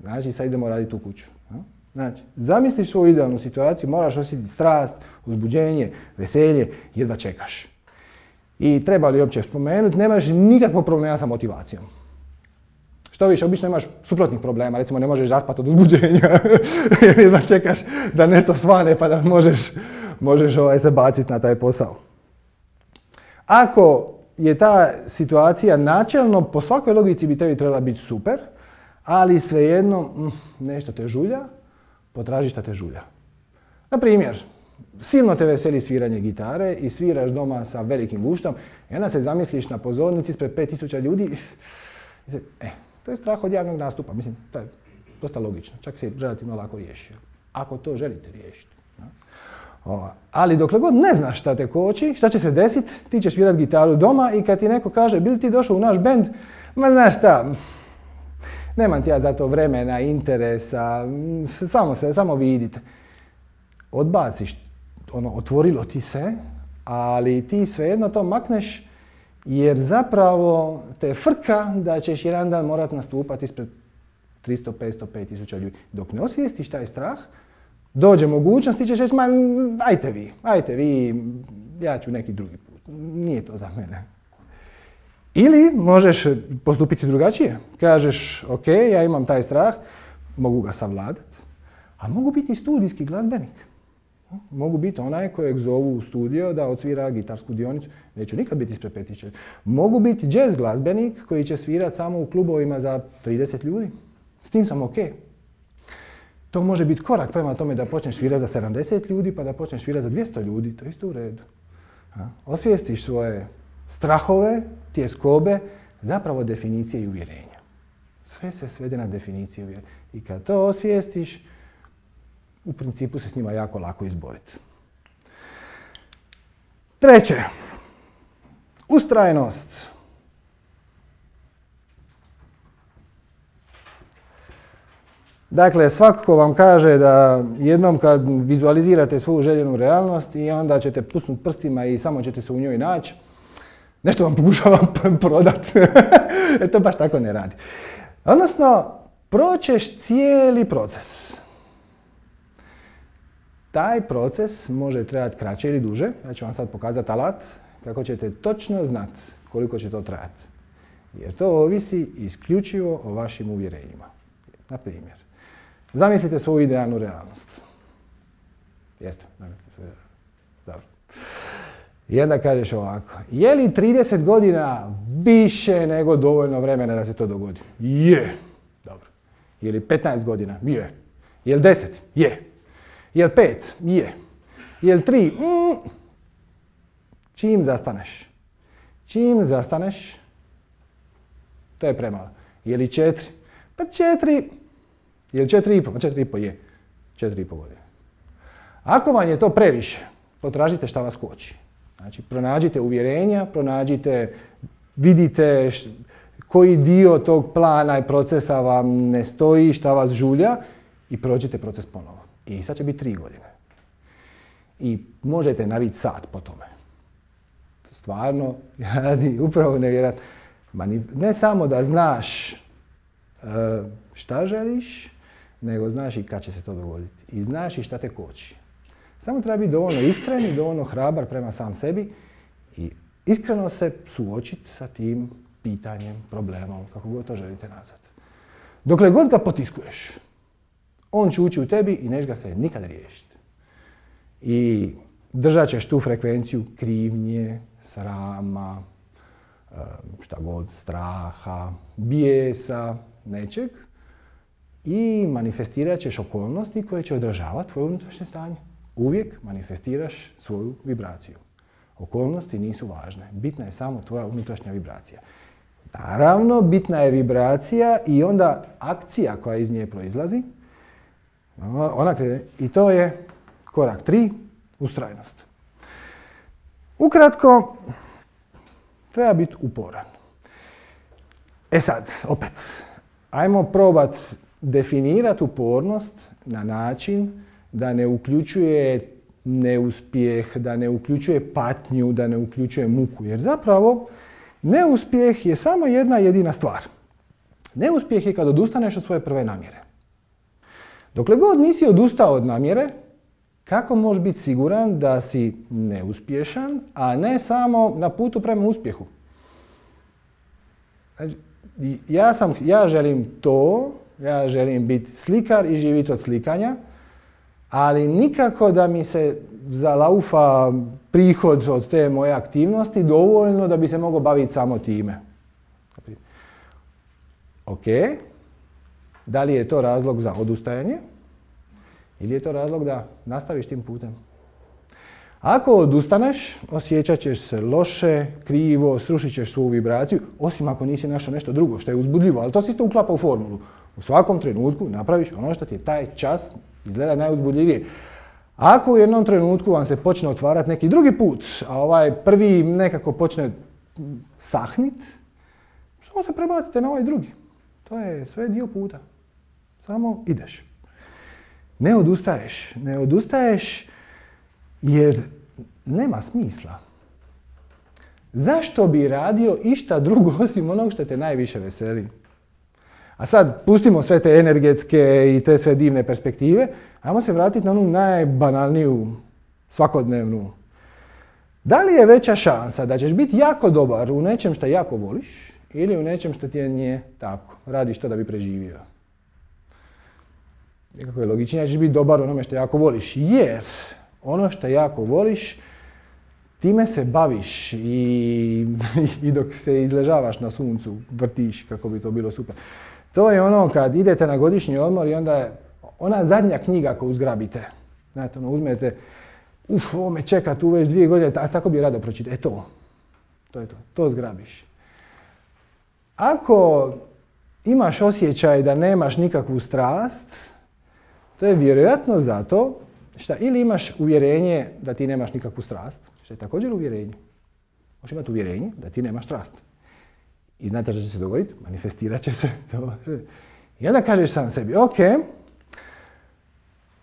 Znači, sad idemo raditi tu kuću. Znači, zamisliš svoju idealnu situaciju, moraš osjetiti strast, uzbuđenje, veselje, jedva čekaš. I treba li uopće spomenuti, nemaš nikakvog problema sa motivacijom. Što više, obično imaš suprotnih problema, recimo ne možeš zaspati od uzbuđenja, jer jedva čekaš da nešto svane pa da možeš, možeš ovaj, se baciti na taj posao. Ako je ta situacija načelno, po svakoj logici bi tebi trebala biti super, ali svejedno nešto te žulja, potraži šta te žulja. Na primjer, silno te veseli sviranje gitare i sviraš doma sa velikim guštom i onda se zamisliš na pozornici ispred pet tisuća ljudi. E, to je strah od javnog nastupa. Mislim, to je dosta logično. Čak se relativno lako riješio. Ako to želite riješiti. Ali dokle god ne znaš šta te koči, šta će se desiti, ti ćeš svirati gitaru doma i kad ti neko kaže bi li ti došao u naš bend, ma znaš šta, nemam ti ja za to vremena, interesa, samo se, samo vidite. Odbaciš, ono, otvorilo ti se, ali ti svejedno to makneš jer zapravo te frka da ćeš jedan dan morat nastupati ispred tristo, petsto, pet tisuća ljudi. Dok ne osvijestiš taj strah, dođe mogućnost, ti ćeš reći, ma ajte vi, ajte vi, ja ću neki drugi put, nije to za mene. Ili možeš postupiti drugačije. Kažeš, ok, ja imam taj strah, mogu ga savladati, a mogu biti studijski glazbenik. Mogu biti onaj kojeg zovu u studio da odsvira gitarsku dionicu, neću nikad biti ispred pet tisuća. Mogu biti jazz glazbenik koji će svirati samo u klubovima za trideset ljudi. S tim sam ok. To može biti korak prema tome da počneš svirati za sedamdeset ljudi pa da počneš svirati za dvjesto ljudi, to je isto u redu. Osvijestiš svoje strahove, tjeskobe, zapravo definicije i uvjerenja. Sve se svede na definicije i uvjerenja. I kad to osvijestiš, u principu se s njima jako lako izboriti. Treće, ustrajnost. Dakle, svako ko vam kaže da jednom kad vizualizirate svoju željenu realnost i onda ćete pusnuti prstima i samo ćete se u njoj naći, nešto vam pokušava prodati. Jer to baš tako ne radi. Odnosno, proćeš cijeli proces. Taj proces može trajati kraće ili duže. Ja ću vam sad pokazati alat kako ćete točno znati koliko će to trajati. Jer to ovisi isključivo o vašim uvjerenjima. Na primjer, zamislite svoju idealnu realnost. Jeste? Dobro. I onda kažeš ovako, je li trideset godina više nego dovoljno vremena da se to dogodi? Je. Dobro. Je li petnaest godina? Je. Je li deset? Je. Je li pet? Je. Je li tri? Mm. Čim zastaneš? Čim zastaneš, to je premalo. Je li četiri? Pa četiri. Je li četiri i po? Pa četiri i po je. Četiri i po godine. Ako vam je to previše, potražite šta vas koči. Znači, pronađite uvjerenja, pronađite, vidite š, koji dio tog plana i procesa vam ne stoji, šta vas žulja i prođite proces ponovo. I sad će biti tri godine. I možete naviti sat po tome. To stvarno radi upravo nevjerojatno. Ne samo da znaš uh, šta želiš, nego znaš i kad će se to dogoditi. I znaš i šta te koči. Samo treba biti dovoljno iskren i dovoljno hrabar prema sam sebi i iskreno se suočiti sa tim pitanjem, problemom, kako god to želite nazvati. Dokle god ga potiskuješ, on će ući u tebi i neš ga se nikad riješiti. I držat ćeš tu frekvenciju krivnje, srama, šta god, straha, bijesa, nečeg i manifestirat ćeš okolnosti koje će odražavati tvoje unutrašnje stanje. Uvijek manifestiraš svoju vibraciju. Okolnosti nisu važne. Bitna je samo tvoja unutrašnja vibracija. Naravno, bitna je vibracija i onda akcija koja iz nje proizlazi. Ona krene. I to je korak tri, ustrajnost. Ukratko, treba biti uporan. E sad, opet, ajmo probat definirati upornost na način da ne uključuje neuspjeh, da ne uključuje patnju, da ne uključuje muku. Jer zapravo neuspjeh je samo jedna jedina stvar. Neuspjeh je kad odustaneš od svoje prve namjere. Dokle god nisi odustao od namjere, kako možeš biti siguran da si neuspješan, a ne samo na putu prema uspjehu? Znači, ja, sam, ja želim to, ja želim biti slikar i živjeti od slikanja, ali nikako da mi se zalaufa prihod od te moje aktivnosti dovoljno da bi se mogao baviti samo time. Ok, da li je to razlog za odustajanje ili je to razlog da nastaviš tim putem? Ako odustaneš, osjećat ćeš se loše, krivo, srušit ćeš svoju vibraciju, osim ako nisi našao nešto drugo što je uzbudljivo, ali to se isto uklapa u formulu. U svakom trenutku napraviš ono što ti je taj čas izgleda najuzbudljivije. Ako u jednom trenutku vam se počne otvarati neki drugi put, a ovaj prvi nekako počne sahnit, samo se prebacite na ovaj drugi. To je sve dio puta. Samo ideš. Ne odustaješ. Ne odustaješ jer nema smisla. Zašto bi radio išta drugo osim onog što te najviše veseli? A sad, pustimo sve te energetske i te sve divne perspektive, ajmo se vratiti na onu najbanalniju, svakodnevnu. Da li je veća šansa da ćeš biti jako dobar u nečem što jako voliš ili u nečem što ti nije tako, radiš to da bi preživio? Nekako je logičnije da ćeš biti dobar u onome što jako voliš, jer ono što jako voliš, time se baviš i, i dok se izležavaš na suncu, vrtiš kako bi to bilo super. To je ono kad idete na godišnji odmor i onda je ona zadnja knjiga koju zgrabite. Znate, ono, uzmete, uf, ovo me čeka tu već dvije godine, a tako bi rado pročitao. E to, to je to, to zgrabiš. Ako imaš osjećaj da nemaš nikakvu strast, to je vjerojatno zato što ili imaš uvjerenje da ti nemaš nikakvu strast, što je također uvjerenje. Možeš imati uvjerenje da ti nemaš strast. I znate što će se dogoditi? Manifestirat će se to. I onda kažeš sam sebi, ok,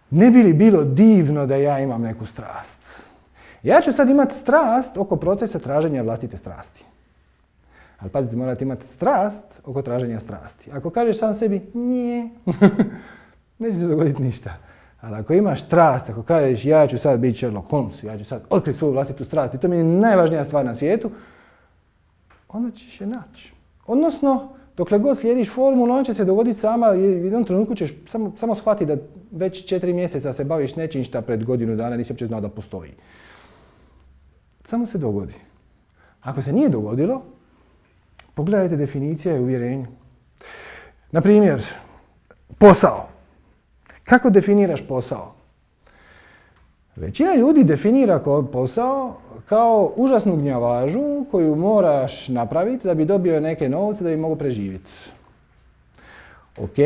ne bi li bilo divno da ja imam neku strast? Ja ću sad imati strast oko procesa traženja vlastite strasti. Ali pazite, morate imati strast oko traženja strasti. Ako kažeš sam sebi, nije, neće se dogoditi ništa. Ali ako imaš strast, ako kažeš ja ću sad biti Sherlock Holmes, ja ću sad otkriti svoju vlastitu strast i to mi je najvažnija stvar na svijetu, onda ćeš je naći. Odnosno, dokle god slijediš formulu, ona će se dogoditi sama i u jednom trenutku ćeš samo, samo shvatiti da već četiri mjeseca se baviš nečim šta pred godinu dana nisi uopće znao da postoji. Samo se dogodi. Ako se nije dogodilo, pogledajte definicije i uvjerenja. Na primjer, posao. Kako definiraš posao? Većina ljudi definira posao kao užasnu gnjavažu koju moraš napraviti da bi dobio neke novce da bi mogao preživjeti. Ok,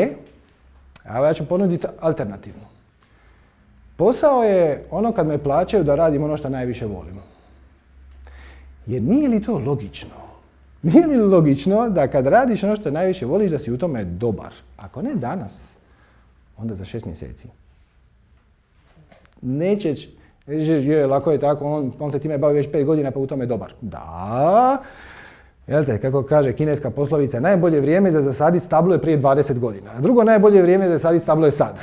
a ja ću ponuditi alternativno. Posao je ono kad me plaćaju da radim ono što najviše volim. Jer nije li to logično? Nije li logično da kad radiš ono što najviše voliš da si u tome dobar? Ako ne danas, onda za šest mjeseci. Neće, je, lako je tako, on, on se time bavi već pet godina pa u tome je dobar. Da, jel te, kako kaže kineska poslovica, najbolje vrijeme za zasaditi stablo je prije dvadeset godina. A drugo najbolje vrijeme za zasaditi stablo je sad.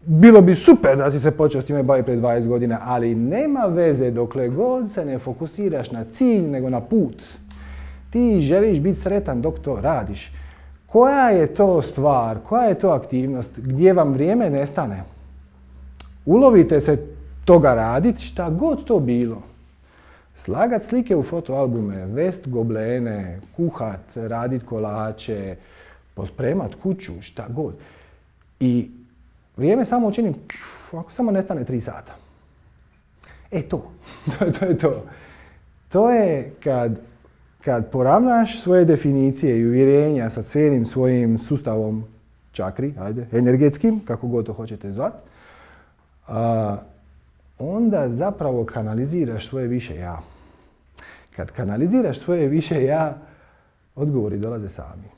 Bilo bi super da si se počeo s time baviti prije dvadeset godina, ali nema veze dokle god se ne fokusiraš na cilj nego na put. Ti želiš biti sretan dok to radiš. Koja je to stvar, koja je to aktivnost gdje vam vrijeme nestane? Ulovite se toga raditi, šta god to bilo. Slagat slike u fotoalbume, vest goblene, kuhat, radit kolače, pospremat kuću, šta god. I vrijeme samo učinim, ako samo nestane tri sata. E to, to, to je to. To je kad, kad poravnaš svoje definicije i uvjerenja sa cijelim svojim sustavom čakri, ajde, energetskim, kako god to hoćete zvat, a, onda zapravo kanaliziraš svoje više ja. Kad kanaliziraš svoje više ja, odgovori dolaze sami.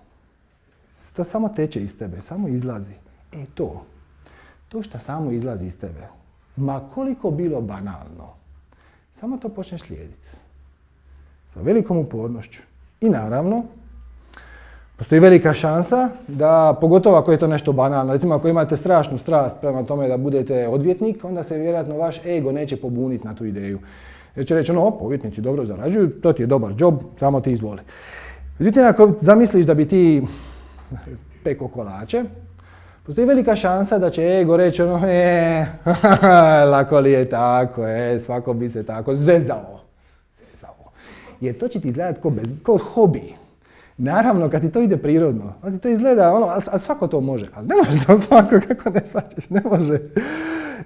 To samo teče iz tebe, samo izlazi. E to, to što samo izlazi iz tebe, ma koliko bilo banalno, samo to počneš slijediti. Sa velikom upornošću. I naravno, postoji velika šansa da, pogotovo ako je to nešto banalno, recimo ako imate strašnu strast prema tome da budete odvjetnik, onda se vjerojatno vaš ego neće pobuniti na tu ideju. Jer će reći ono, op, odvjetnici dobro zarađuju, to ti je dobar job, samo ti izvoli. Međutim, ako zamisliš da bi ti peko kolače, postoji velika šansa da će ego reći ono, e, lako li je tako, e, svako bi se tako zezao. Zezao. Jer to će ti izgledati kao, bez, kao hobi. Naravno, kad ti to ide prirodno, onda ti to izgleda, ono, ali, ali svako to može. Ali ne može to svako, kako ne shvaćaš, ne može.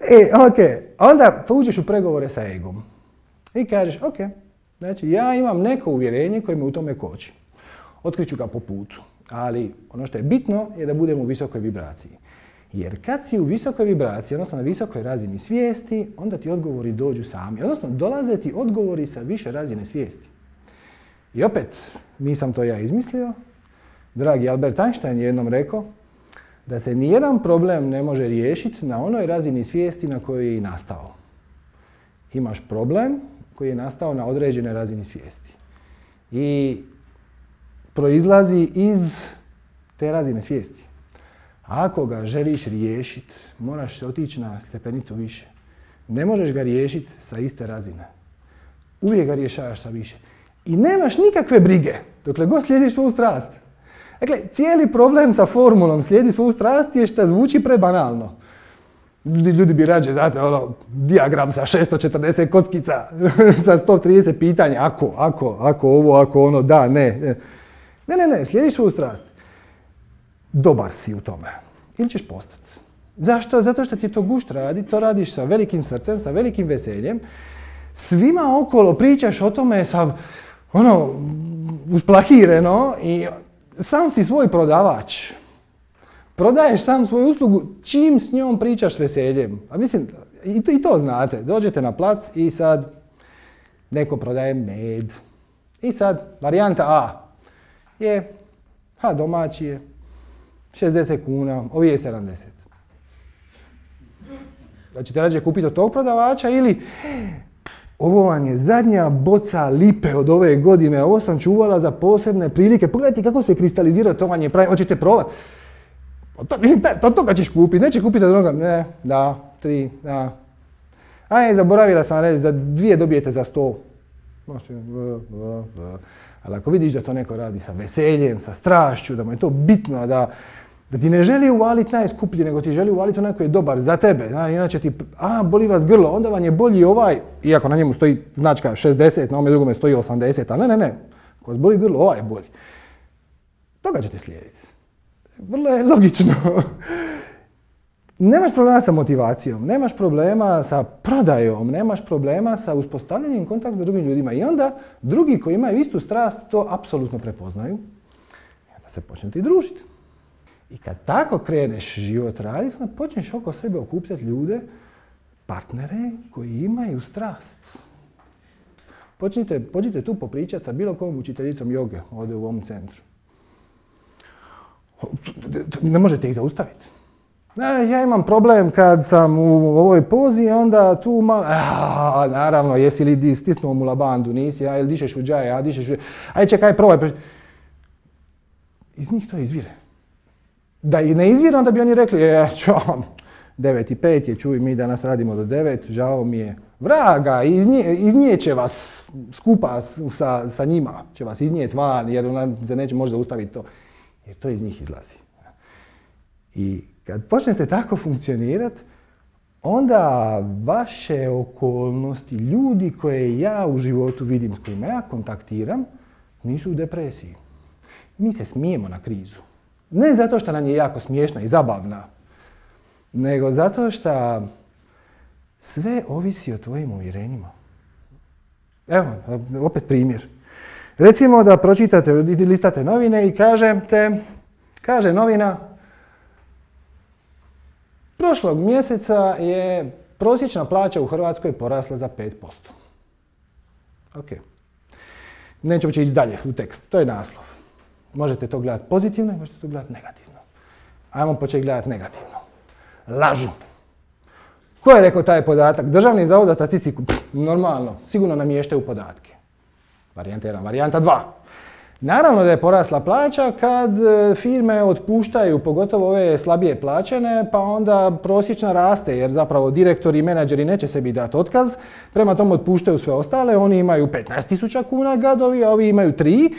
E, ok, onda uđeš u pregovore sa egom. I kažeš, ok, znači ja imam neko uvjerenje koje me u tome koči. Otkriću ga po putu. Ali ono što je bitno je da budemo u visokoj vibraciji. Jer kad si u visokoj vibraciji, odnosno na visokoj razini svijesti, onda ti odgovori dođu sami. Odnosno, dolaze ti odgovori sa više razine svijesti. I opet, nisam to ja izmislio. Dragi Albert Einstein je jednom rekao da se nijedan problem ne može riješiti na onoj razini svijesti na kojoj je i nastao. Imaš problem koji je nastao na određenoj razini svijesti. I proizlazi iz te razine svijesti. Ako ga želiš riješiti, moraš otići na stepenicu više. Ne možeš ga riješiti sa iste razine. Uvijek ga rješavaš sa više. I nemaš nikakve brige dokle god slijediš svoju strast. Dakle, cijeli problem sa formulom slijedi svoju strast je što zvuči prebanalno. Ljudi, ljudi bi rađe, znate, ono, dijagram sa šesto četrdeset kockica, sa sto trideset pitanja, ako, ako, ako ovo, ako ono, da, ne. Ne, ne, ne, slijediš svoju strast. Dobar si u tome. Ili ćeš postati. Zašto? Zato što ti to gušt radi, to radiš sa velikim srcem, sa velikim veseljem. Svima okolo pričaš o tome sa, ono, usplahireno i sam si svoj prodavač. Prodaješ sam svoju uslugu čim s njom pričaš s veseljem. A mislim, i to, i to znate. Dođete na plac i sad neko prodaje med. I sad, varijanta A je, ha, domaći je, šezdeset kuna, ovi je sedamdeset. Da ćete rađe kupiti od tog prodavača ili ovo vam je zadnja boca lipe od ove godine, ovo sam čuvala za posebne prilike. Pogledajte kako se kristalizira, to vam je pravi, hoćete probati. To, mislim, to toga ćeš kupiti, neće kupiti od onoga, ne, da, tri, da. Aj, zaboravila sam reći, za dvije dobijete za sto. Ali ako vidiš da to neko radi sa veseljem, sa strašću, da mu je to bitno, da, da ti ne želi uvaliti najskuplji, nego ti želi uvaliti onaj koji je dobar za tebe. Da, inače ti, a, boli vas grlo, onda vam je bolji ovaj, iako na njemu stoji značka šezdeset, na ovome drugome stoji osamdeset, a ne, ne, ne, ako vas boli grlo, ovaj je bolji. Toga ćete slijediti. Vrlo je logično. Nemaš problema sa motivacijom, nemaš problema sa prodajom, nemaš problema sa uspostavljanjem kontakta s drugim ljudima. I onda drugi koji imaju istu strast to apsolutno prepoznaju. I onda se počnete i družiti. I kad tako kreneš život raditi, onda počneš oko sebe okupljati ljude, partnere koji imaju strast. Počnite, počnite tu popričati sa bilo kojom učiteljicom joge ovdje u ovom centru. Ne možete ih zaustaviti. Ja imam problem kad sam u ovoj pozi, onda tu malo... A, naravno, jesi li stisnuo mu labandu, nisi, a ili dišeš u džaje, a dišeš u... Aj čekaj, probaj. Iz njih to izvire. Da i ne izvire, onda bi oni rekli, e, čuvam, devet i pet je, čuj, mi danas radimo do devet, žao mi je. Vraga, iznijeće vas skupa sa, sa njima, će vas iznijeti van, jer ona se neće možda zaustaviti to. Jer to iz njih izlazi. I kad počnete tako funkcionirati, onda vaše okolnosti, ljudi koje ja u životu vidim, s kojima ja kontaktiram, nisu u depresiji. Mi se smijemo na krizu. Ne zato što nam je jako smiješna i zabavna, nego zato što sve ovisi o tvojim uvjerenjima. Evo, opet primjer. Recimo da pročitate, listate novine i kažete, kaže novina, prošlog mjeseca je prosječna plaća u Hrvatskoj porasla za pet posto. Ok. Nećemo ići dalje u tekst, to je naslov. Možete to gledati pozitivno i možete to gledati negativno. Ajmo početi gledati negativno. Lažu. Ko je rekao taj podatak? Državni zavod za statistiku. Pff, normalno, sigurno namještaju podatke. Varijanta jedan, varijanta dva. Naravno da je porasla plaća kad firme otpuštaju, pogotovo ove slabije plaćene, pa onda prosječna raste, jer zapravo direktori i menadžeri neće sebi dati otkaz, prema tomu otpuštaju sve ostale, oni imaju petnaest tisuća kuna gadovi, a ovi imaju tri.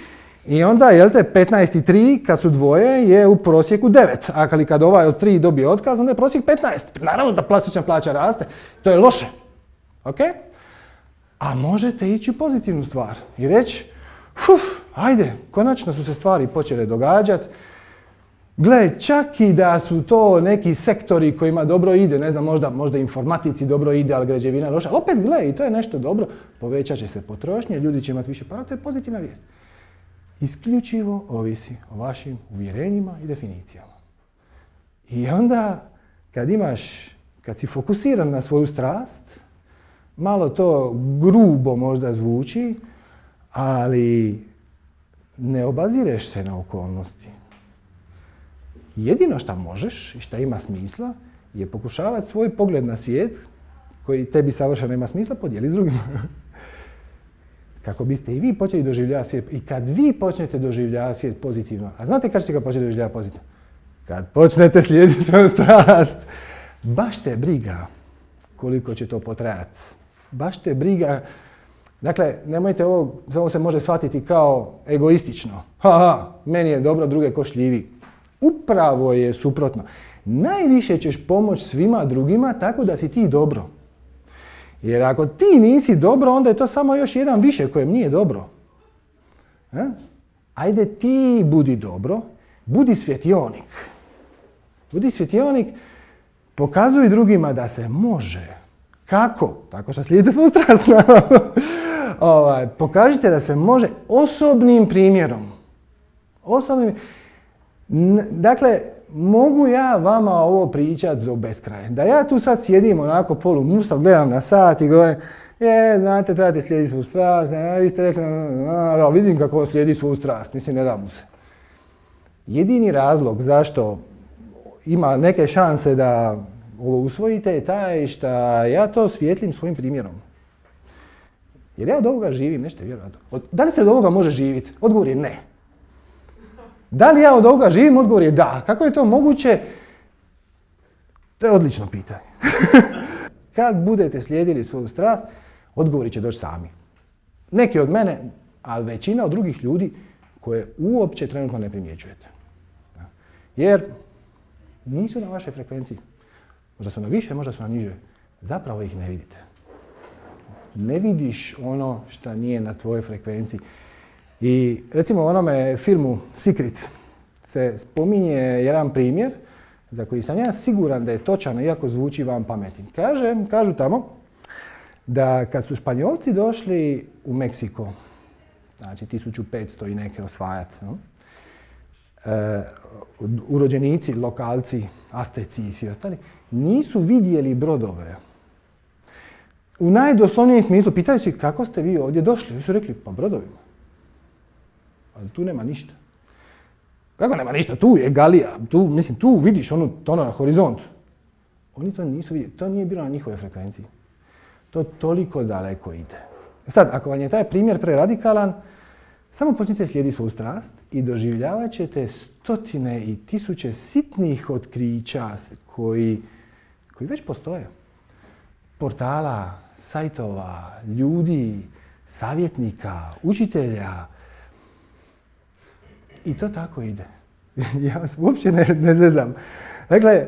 I onda, jel te, petnaest i tri, kad su dvoje, je u prosjeku devet. A kad ovaj od tri dobije otkaz, onda je prosjek petnaest. Naravno da prosječna plaća raste. To je loše. Ok? A možete ići u pozitivnu stvar i reći, uf, ajde, konačno su se stvari počele događati. Gle, čak i da su to neki sektori kojima dobro ide, ne znam, možda, možda informatici dobro ide, ali građevina je loša. Ali opet, gle, i to je nešto dobro. Povećat će se potrošnje, ljudi će imati više para, to je pozitivna vijest. Isključivo ovisi o vašim uvjerenjima i definicijama. I onda, kad imaš, kad si fokusiran na svoju strast, malo to grubo možda zvuči, ali ne obazireš se na okolnosti. Jedino što možeš i što ima smisla je pokušavati svoj pogled na svijet, koji tebi savršeno ima smisla, podijeli s drugima. Kako biste i vi počeli doživljavati svijet. I kad vi počnete doživljavati svijet pozitivno, a znate kad ćete ga početi doživljavati pozitivno? Kad počnete slijediti svoju strast. Baš te briga koliko će to potrajati. Baš te briga. Dakle, nemojte ovo, samo se može shvatiti kao egoistično. Ha, ha, meni je dobro, druge ko šljivi. Upravo je suprotno. Najviše ćeš pomoći svima drugima tako da si ti dobro. Jer ako ti nisi dobro, onda je to samo još jedan više kojem nije dobro. E? Ajde ti budi dobro, budi svjetionik. Budi svjetionik, pokazuj drugima da se može. Kako? Tako što slijedite svoju strast. ovaj, pokažite da se može osobnim primjerom. Osobnim... Dakle, mogu ja vama ovo pričati do beskraja. Da ja tu sad sjedim onako polu musav, gledam na sat i govorim, je, znate, trebate slijediti svoju strast, ne, vi ste rekli, a, vidim kako on slijedi svoju strast, mislim, ne da mu se. Jedini razlog zašto ima neke šanse da ovo usvojite je taj što ja to svijetlim svojim primjerom. Jer ja od ovoga živim, nešto vjerojatno. Da li se od ovoga može živjeti? Odgovor je ne. Da li ja od ovoga živim? Odgovor je da. Kako je to moguće? To je odlično pitanje. Kad budete slijedili svoju strast, odgovori će doći sami. Neki od mene, ali većina od drugih ljudi koje uopće trenutno ne primjećujete. Jer nisu na vašoj frekvenciji. Možda su na više, možda su na niže. Zapravo ih ne vidite. Ne vidiš ono što nije na tvojoj frekvenciji. I recimo u onome filmu Secret se spominje jedan primjer za koji sam ja siguran da je točan, iako zvuči van pameti. Kaže, kažu tamo da kad su Španjolci došli u Meksiko, znači tisuću petsto i neke osvajati, no? e, urođenici, lokalci, Asteci i svi ostali, nisu vidjeli brodove. U najdoslovnijem smislu pitali su ih kako ste vi ovdje došli. Oni su rekli pa brodovima. Ali tu nema ništa. Kako nema ništa? Tu je Galija. Tu, mislim, tu vidiš ono, ono na horizontu. Oni to nisu vidjeli. To nije bilo na njihove frekvenciji. To toliko daleko ide. Sad, ako vam je taj primjer preradikalan, samo počnite slijediti svoju strast i doživljavat ćete stotine i tisuće sitnih otkrića koji, koji već postoje. Portala, sajtova, ljudi, savjetnika, učitelja. I to tako ide. Ja vas uopće ne, ne zezam. Dakle,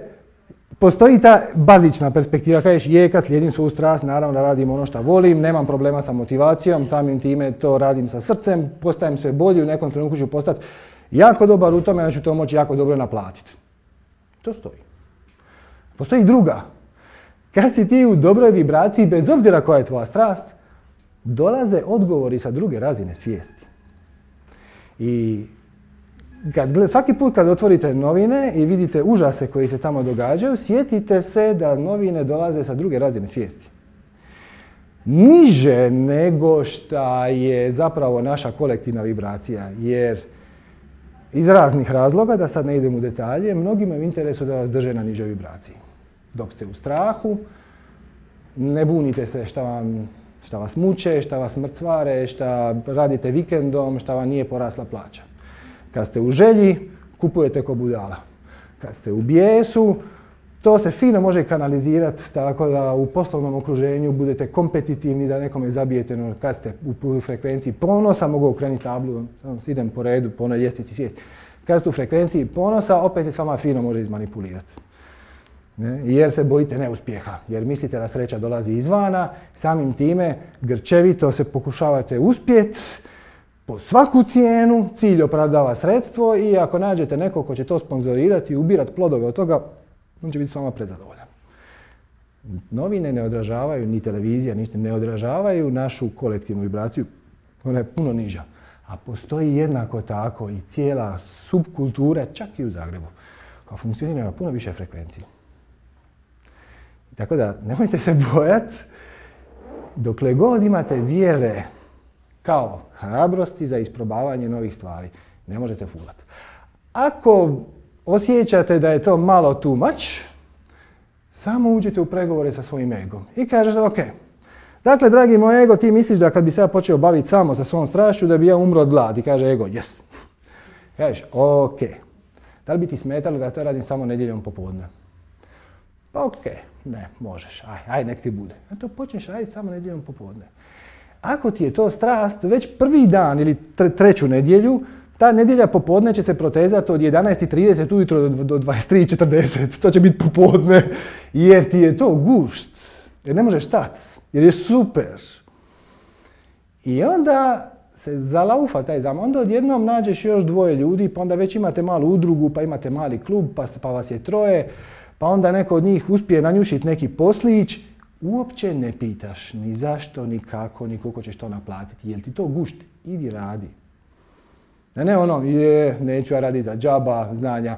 postoji ta bazična perspektiva. Kažeš, je, kad slijedim svoju strast, naravno da radim ono što volim, nemam problema sa motivacijom, samim time to radim sa srcem, postajem sve bolji, u nekom trenutku ću postati jako dobar u tome, onda ću to moći jako dobro naplatiti. To stoji. Postoji druga. Kad si ti u dobroj vibraciji, bez obzira koja je tvoja strast, dolaze odgovori sa druge razine svijesti. I kad, svaki put kad otvorite novine i vidite užase koji se tamo događaju, sjetite se da novine dolaze sa druge razine svijesti. Niže nego šta je zapravo naša kolektivna vibracija, jer iz raznih razloga, da sad ne idem u detalje, mnogima je u interesu da vas drže na nižoj vibraciji. Dok ste u strahu, ne bunite se šta vam, šta vas muče, šta vas mrcvare, šta radite vikendom, šta vam nije porasla plaća. Kad ste u želji, kupujete ko budala. Kad ste u bijesu, to se fino može kanalizirati tako da u poslovnom okruženju budete kompetitivni, da nekome zabijete. No, kad ste u frekvenciji ponosa, mogu okrenuti tablu, samo idem po redu, po onoj ljestvici svijesti. Kad ste u frekvenciji ponosa, opet se s vama fino može izmanipulirati. Ne? Jer se bojite neuspjeha, jer mislite da sreća dolazi izvana, samim time grčevito se pokušavate uspjeti, po svaku cijenu, cilj opravdava sredstvo i ako nađete nekog ko će to sponzorirati i ubirati plodove od toga, on će biti s vama prezadovoljan. Novine ne odražavaju, ni televizija, ništa, ne odražavaju našu kolektivnu vibraciju. Ona je puno niža. A postoji jednako tako i cijela subkultura, čak i u Zagrebu, koja funkcionira na puno više frekvenciji. Tako da, nemojte se bojati, dokle god imate vjere kao hrabrosti za isprobavanje novih stvari, ne možete fulati. Ako osjećate da je to malo too much, samo uđite u pregovore sa svojim egom i kažete ok, dakle, dragi moj ego, ti misliš da kad bi se ja počeo baviti samo sa svom strašću, da bi ja umro od gladi, kaže ego, jes. Kažeš, ok, da li bi ti smetalo da to radim samo nedjeljom popodne? Pa ok, ne, možeš, aj, aj nek ti bude. A to počneš raditi samo nedjeljom popodne. Ako ti je to strast, već prvi dan ili treću nedjelju, ta nedjelja popodne će se protezati od jedanaest i trideset ujutro do dvadeset tri i četrdeset. To će biti popodne, jer ti je to gušt. Jer ne možeš stati, jer je super. I onda se zalaufa taj zamah. Onda odjednom nađeš još dvoje ljudi, pa onda već imate malu udrugu, pa imate mali klub, pa, pa vas je troje, pa onda neko od njih uspije nanjušiti neki poslić. Uopće ne pitaš ni zašto, ni kako, ni koliko ćeš to naplatiti. Jel ti to gušt? Idi radi. Ne, ne ono, je, neću ja raditi za džaba, znanja.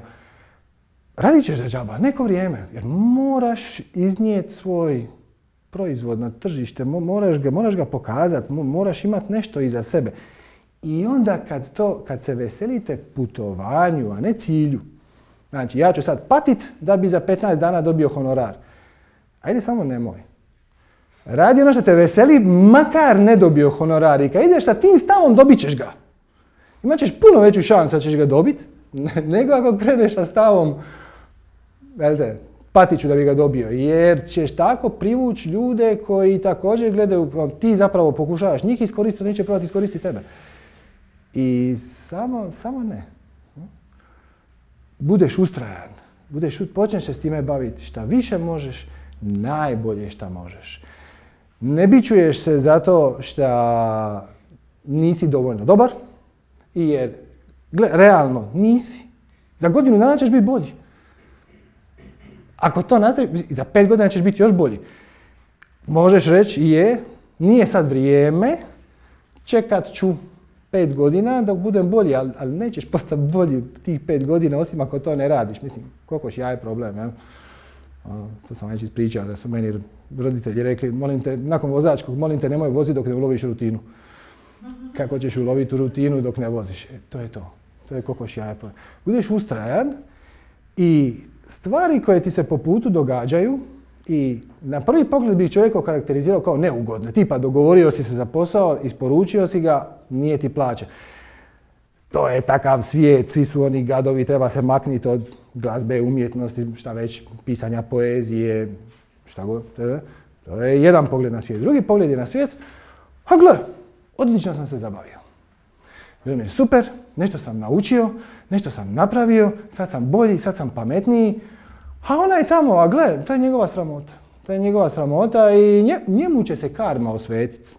Radit ćeš za džaba, neko vrijeme, jer moraš iznijeti svoj proizvod na tržište, moraš ga, moraš ga pokazati, moraš imati nešto iza sebe. I onda kad, to, kad se veselite putovanju, a ne cilju, znači ja ću sad patit da bi za petnaest dana dobio honorar. Ajde samo nemoj. Radi ono što te veseli, makar ne dobio honorar. I kad ideš sa tim stavom, dobit ćeš ga. Imat ćeš puno veću šansu da ćeš ga dobiti, nego ako kreneš sa stavom, velte, patit ću da bi ga dobio. Jer ćeš tako privući ljude koji također gledaju, ti zapravo pokušavaš njih iskoristiti, neće probati iskoristiti tebe. I samo, samo ne. Budeš ustrajan, budeš, počneš se s time baviti. Šta više možeš, najbolje šta možeš. Ne bičuješ se zato šta nisi dovoljno dobar, jer gle, realno nisi. Za godinu dana ćeš biti bolji. Ako to nastaviš, za pet godina ćeš biti još bolji. Možeš reći je, nije sad vrijeme, čekat ću pet godina dok budem bolji, ali, ali nećeš postati bolji tih pet godina osim ako to ne radiš. Mislim, kokoš ja je problem, jel? Ono, to sam već ispričao da su meni roditelji rekli, molim te, nakon vozačkog, molim te nemoj voziti dok ne uloviš rutinu. Kako ćeš uloviti rutinu dok ne voziš? E, to je to. To je kokoš jaje problem. Budeš ustrajan i stvari koje ti se po putu događaju i na prvi pogled bi čovjek okarakterizirao kao neugodne. Tipa dogovorio si se za posao, isporučio si ga, nije ti plaće. To je takav svijet, svi su oni gadovi, treba se makniti od glazbe, umjetnosti, šta već, pisanja poezije, šta god. To je jedan pogled na svijet. Drugi pogled je na svijet, a gle, odlično sam se zabavio. Bilo mi je super, nešto sam naučio, nešto sam napravio, sad sam bolji, sad sam pametniji, a ona je tamo, a gle, to je njegova sramota. To je njegova sramota i nje, njemu će se karma osvetiti.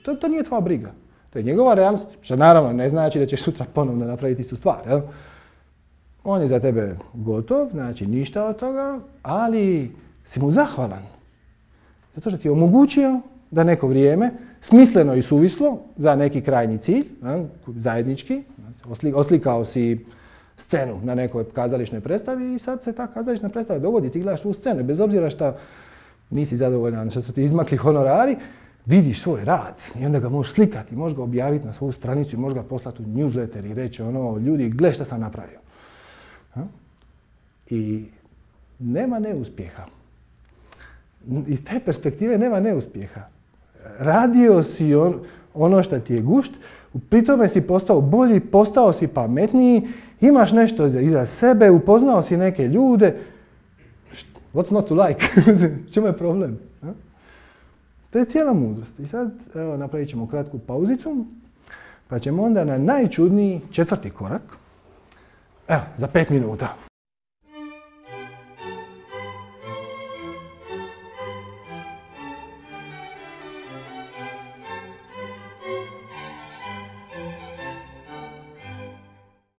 To, to nije tvoja briga. To je njegova realnost, što naravno ne znači da ćeš sutra ponovno napraviti istu stvar. Jel? On je za tebe gotov, znači ništa od toga, ali si mu zahvalan. Zato što ti je omogućio da neko vrijeme, smisleno i suvislo, za neki krajnji cilj, zajednički, oslikao si scenu na nekoj kazališnoj predstavi i sad se ta kazališna predstava dogodi, ti gledaš tu scenu, bez obzira što nisi zadovoljan, što su ti izmakli honorari, vidiš svoj rad i onda ga možeš slikati, možeš ga objaviti na svoju stranicu i možeš ga poslati u newsletter i reći ono, ljudi, gle šta sam napravio. I nema neuspjeha. Iz te perspektive nema neuspjeha. Radio si on, ono što ti je gušt, pri tome si postao bolji, postao si pametniji, imaš nešto iza sebe, upoznao si neke ljude. What's not to like? Čemu je problem? To je cijela mudrost. I sad evo, napravit ćemo kratku pauzicu, pa ćemo onda na najčudniji četvrti korak, evo, za pet minuta.